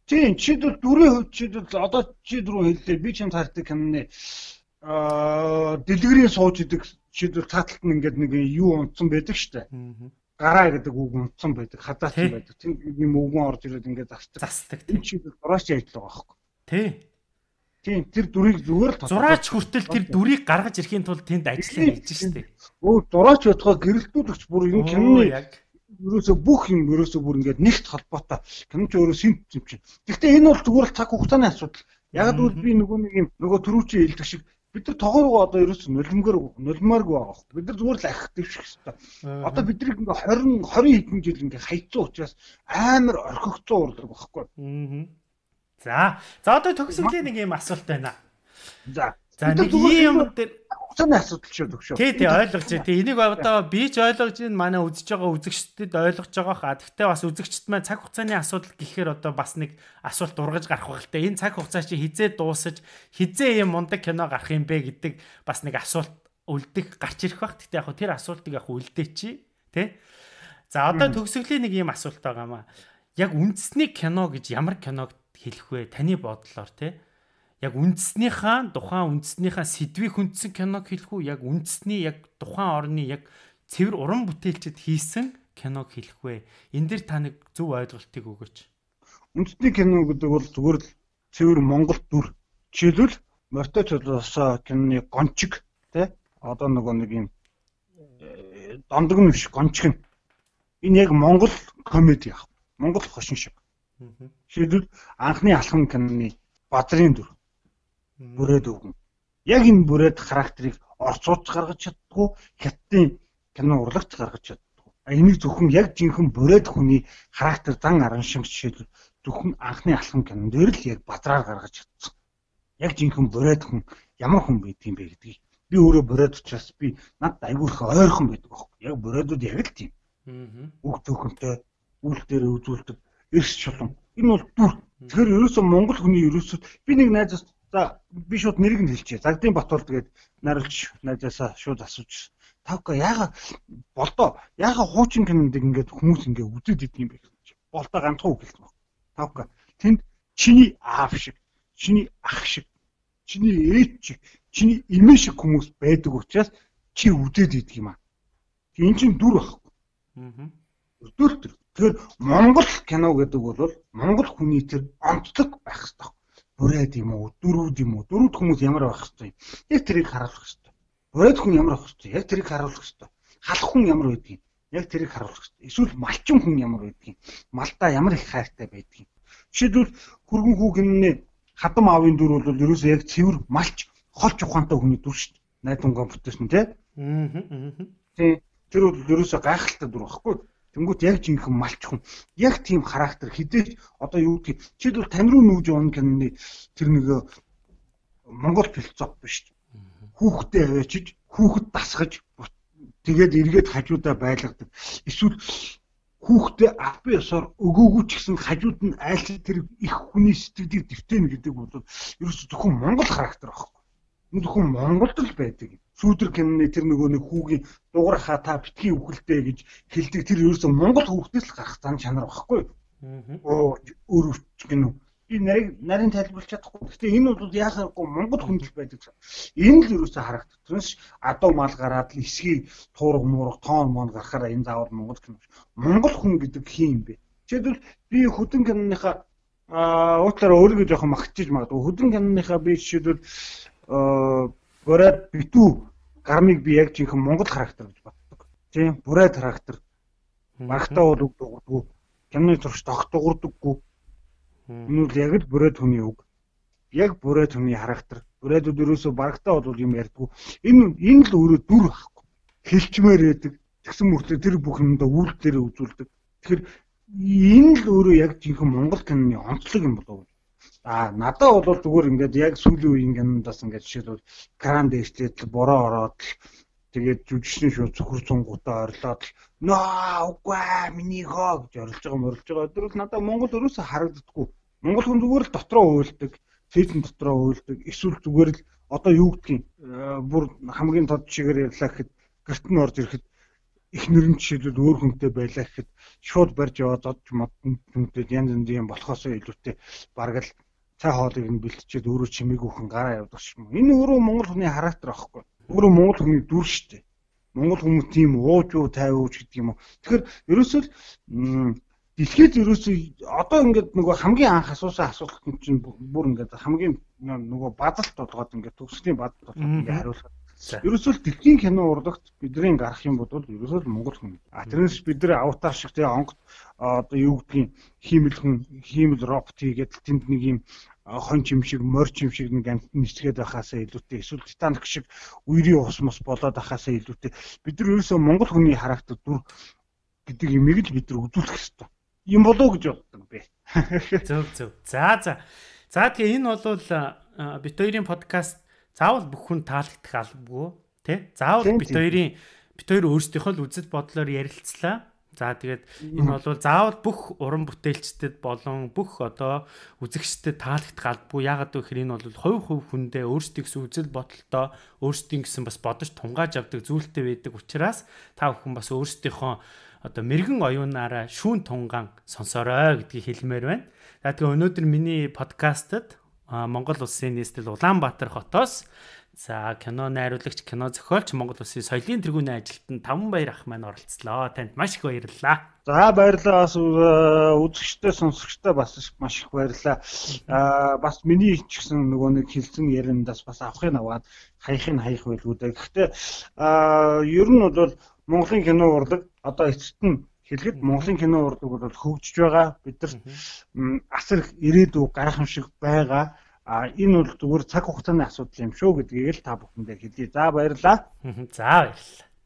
Тийм чидэл дүрийн хувьд чидэл одоо чи дөрөв хэллээ би чамд хардаг киноны аа дэлгэрийн сууж идэг чидэл цааталт нь ингээд нэг юу унтсан байдаг штэ. Гараа гэдэг үг унтсан байдаг хадаасан байдаг. Тийм юм өвгөн орж ирээд ингээд застдаг. Застдаг тийм чидэл дураач ажил байгаа байхгүй. Тий. Тийм тэр дүрийг зүгээр л зураач хүртэл тэр дүрийг гаргаж ирэхийн тулд тэнд ажиллаа хийж штэ. Өө зураач бодгоо гэрэлтүүлэгч бүр энэ киноны ерөөсө бүх юм ерөөсө бүр ингээд нэгт холбоотой. Кино ч өөрөө симп юм чинь. Гэхдээ энэ бол зүгээр л цаг хугацааны асуудал. Яг л би нөгөө нэг юм нөгөө төрүүчийн хэлдэг шиг бид нар тоогоогоо одоо ерөөсө нулимгэр нулимааргүй байгаа. Бид нар зүгээр л ахих дэвших хэрэгтэй. Одоо бидний ингээ двадцать двадцать хэдэн жил ингээ хайцсан учраас амар орхигцсан урлаг багхгүй. Аа. За. За одоо төгсгөлийн нэг юм асуулт байна. За. За нэг юм дээр хугацааны асуудал шүү төгшөө. Тий, тий ойлгож байна. Тий энийг одоо би ч ойлгож байна. Манай үзэж байгаа үзэгчдэд ойлгож байгаа хаа. Гэхдээ бас үзэгчд маань цаг хугацааны асуудал гэхээр одоо бас нэг асуулт ургаж гарах байх л та. Энэ цаг хугацаа чи хизээ дуусаж хизээ юм мундаг кино гарах юм бэ гэдэг бас нэг асуулт үлдэх гарч ирэх байх. Гэхдээ яг хөө тэр асуултыг яг үлдээчи. Тий. За одоо төгсгөлийн нэг юм асуулт байгаа маа. Яг үндэсний кино гэж ямар киног хэлэх вэ? Таны бодлоор тий. Яг үндэснийхаа тухайн үндэснийхаа сэдвийг хүндсэн киног хэлэх үү? Яг үндэсний яг тухайн орны яг цэвэр уран бүтээлчд хийсэн киног хэлэх вэ? Энэ дэр та нэг зөв ойлголтыг өгөөч. Үндэсний кино гэдэг бол зүгээр л цэвэр Монгол дүр. Жишээлбэл Морьтой цолоосоо киноны гончиг тий? Одоо нөгөө нэг юм дондог нь биш гончиг нь. Энэ яг Монгол комеди яг. Монгол хошин шиг. Жишээлбэл анхны алхам киноны Бадрын дүр. Бүрээд өгнө. Яг энэ бүрээд характерыг орцуулж гаргаж чаддгүй, хятадын кино урлагч гаргаж чаддгүй. А энийг зөвхөн яг жинхэнэ бүрээд хүний характер зан аран шиг жишээлбэл зөвхөн анхны алхам кинон дээр л яг Бадраар гаргаж чадсан. яг жинхэнэ бурайд хүн ямар хүн байдгийг бэ гэдгийг. Би өөрөө бурайд учраас би надад айгүй их ойрхон байдаг байхгүй. Яг бурайдууд яг л тийм. Аа. Үг төхөнтэй үйл дээр үзүүлдэг эрс чулуун. Энэ бол дүр. Тэгэхээр ерөөсөө Монгол хүний ерөөсөө би нэг найзаас за би шууд нэрийг нь хэлчихье. Загдын Батбол тэгээд наруулж найзаасаа шууд асууж. Тавка яага болдоо яага хуучин кинонд ингээд хүмүүс ингээд үзээд идэв юм бэ гэж. Болдоо ганцхан үг хэлсэн баг. Тавка тэнд чиний аав шиг, чиний ах шиг, чиний ээж шиг, чиний эмээ шиг хүмүүс байдаг учраас чи үзээд идэг юм аа. Энэ чинь дүр байхгүй. Аа. Дүр төр. Тэгэхээр Монгол кино гэдэг бол Монгол хүний тэр онцлог байх хэрэгтэй. Бурайд юм уу, дөрүүд юм уу? Дөрүүд хүмүүс ямар байх хэрэгтэй? Яг тэрийг харуулах хэрэгтэй. Бурайд хүн ямар байх хэрэгтэй? Яг тэрийг харуулах хэрэгтэй. Халах хүн ямар байдгийг? Яг тэрийг харуулах хэрэгтэй. Эсвэл малчин хүн ямар байдгийг? Малдаа ямар их хайртай байдгийг? Жишээлбэл хүргэн хүүгнээ хадам аавын дүр бол ерөөсөө яг цэвэр малч, холч ухаантай хүний дүр шүү дээ. Найдвангаа бүтээсэн тий. Аа. Тий. Тэр бол ерөөсөө гайхалтай дүр байхгүй. Тэнгүүт яг жинхэнэ малч хүн. Яг тийм характер хідээж одоо юу гэдгийг жишээлбэл тань руу нүүж явна гэнэ тэр нэг Монгол философи биш. Хүүхдээ аваачиж, хүүхэд дасгаж тэгээд эргээд хажуудаа байлгадаг. Эсвэл хүүхдээ албан ёсоор өгөөгүй ч гэсэн хажууд нь айлт тэр их хүний сэтгэлийг дэвтэнэ гэдэг бол ерөөсө зөвхөн Монгол характер байхгүй. Энэ зөвхөн Монголд л байдаг. Сүүдэр киноны тэр нөгөө нэг хүүгийн дуурайхаа та битгий үхэлтэй гэж хэлдэг тэр ерөөсөө Монгол хүүхдээс л гарах зан чанар байхгүй. Аа. Өөр өвч гинөө. Би нарийн нарийн тайлбарлаж чадахгүй. Гэхдээ энэ бол яахааргүй Монгол хүндэл байдаг. Энэ л ерөөсөө харагдах. Тэрнээс адуу мал гараад л эсгийг туурга муурга тоон моон гарахаараа энэ заавал Монгол кино. Монгол хүн гэдэг хин юм бэ? Жишээлбэл би хөдөн киноныхаа аа уучлаарай өөрийгөө жоохон магтчих магадгүй. Хөдөн киноныхаа би жишээлбэл аа бурайд битүү гармыг би яг жинхэнэ Монгол характер гэж боддог. Тийм, бурайд характер. Багтаа бол үг дуурдаггүй. Киноны зурагч тогт дуурдаггүй. Энэ бол яг л бурайд хүний үг. Яг бурайд хүний характер. Бурайдууд ерөөсөө багтаа бол юм ярьдаггүй. Энэ энэ л өөрөө дүр байхгүй. Хэлчмээр байдаг. Тэгсэн мөртлөө тэр бүх юмдаа үйл дээр үзүүлдэг. Тэгэхээр энэ л өөрөө яг жинхэнэ Монгол киноны онцлог юм болов уу? А надад бол зүгээр ингээд яг сүүлийн үеийн кинондаас ингээд жишээлбэл кран дээшлээд бороо ороод тэгээд жүжигчний шууд цөхөр цунгуудаа орилоод нөө үгүй миний хоо гэж орилж байгаа мөрилж байгаа. Тэр бол надад Монгол өрөөсөө харагддаггүй. Монгол хүн зүгээр л дотроо уйлдаг, фэйсбүүк дотроо уйлдаг. Эсвэл зүгээр л одоо юу гэдгийг бүр хамгийн тод чигээр ярьлаа гэхэд гэрт нь орж ирэхэд их нэрэн жишээлбэл өөр хүнтэй байлаа гэхэд шууд барьж яваад зодж модон хүнтэй янз янзын болохоосоо илүүтэй бараг л цай хоолыг нь бэлтчихэд өөрөө чимээгүйхэн гараа явдаг юм. Энэ өөрөө Монгол хүний характер аахгүй. Өөрөө Монгол хүний дүр шүү дээ. Монгол хүмүүс тийм ууж уу тайв ууж гэдэг юм уу. Тэгэхээр ерөөсөө дэлхийд ерөөсөө одоо ингээд нөгөө хамгийн анх асуусан асуулт нь чинь бүр ингээд хамгийн нөгөө бадалт болгоод ингээд төгслийн бадалт болгоод ингээд хариулах. Ерөөсөө дэлхийн кино урлагт бидний гарах юм бол ерөөсөө Монгол хүн. А тэрнээс бид нэр аватар шиг тэгээ онгот одоо юу гэдгийг хиймэл хүн, хиймэл робот хийгээд тэнд нэг юм хон чим шиг, морь чим шиг нэг амт нисгээд байхаасаа илүүтэй эсвэл Титаник шиг үерийн ус мос болоод байхаасаа илүүтэй бид нар ерөөсөө Монгол хүний характер дүр гэдэг юмыг л бид нар үзүүлэх хэрэгтэй. Юм болоо гэж боддог бэ. Зөв зөв. За за. За тэгээ энэ бол бит хоёрын подкаст заавал бүх хүн таалагдах албагүй тий. Заавал бит хоёрын бит хоёр өөрсдийнхөө л үзэл бодлоор ярилцлаа. За тэгээд энэ бол заавал бүх уран бүтээлчдэд болон бүх одоо үзэгчдэд таалагдах албагүй. Яагаад гэвэл энэ бол хувь хувь хүндээ өөрсдийнхээ үзэл бодолтой өөрсдийн гэсэн бас бодож тунгааж авдаг зүйлтэй байдаг учраас та бүхэн бас өөрсдийнхөө одоо мэрэгэн оюунаараа шүүн тунган сонсорой гэдгийг хэлмээр байна. За тэгээд өнөөдөр миний подкастад Монгол улсын нийслэл Улаанбаатар хотоос за кино найруулагч, кино зохиолч, Монгол улсын соёлын тэргүүний ажилтан Таванбаяр ах маань оролцлоо. Танд маш их баярлалаа. За баярлалаа. Бас үзэгчтэй, сонсогчтой бас маш их баярлалаа. Аа бас миний ч гэсэн нөгөө нэг хэлсэн яриандаас бас авахыг аваад хаях нь хаях байлгүй дээ. Гэхдээ аа ер нь бол Монголын кино урлаг одоо эцэст нь хэлэхэд Монголын кино урлаг бол хөгжиж байгаа. Бидэрт асар их ирээдүй гайхамшиг байгаа. А энэ бол зүгээр цаг хугацааны асуудал юм шүү гэдгийг л та бүхэндээ хэлье. За баярлалаа. За баярлалаа.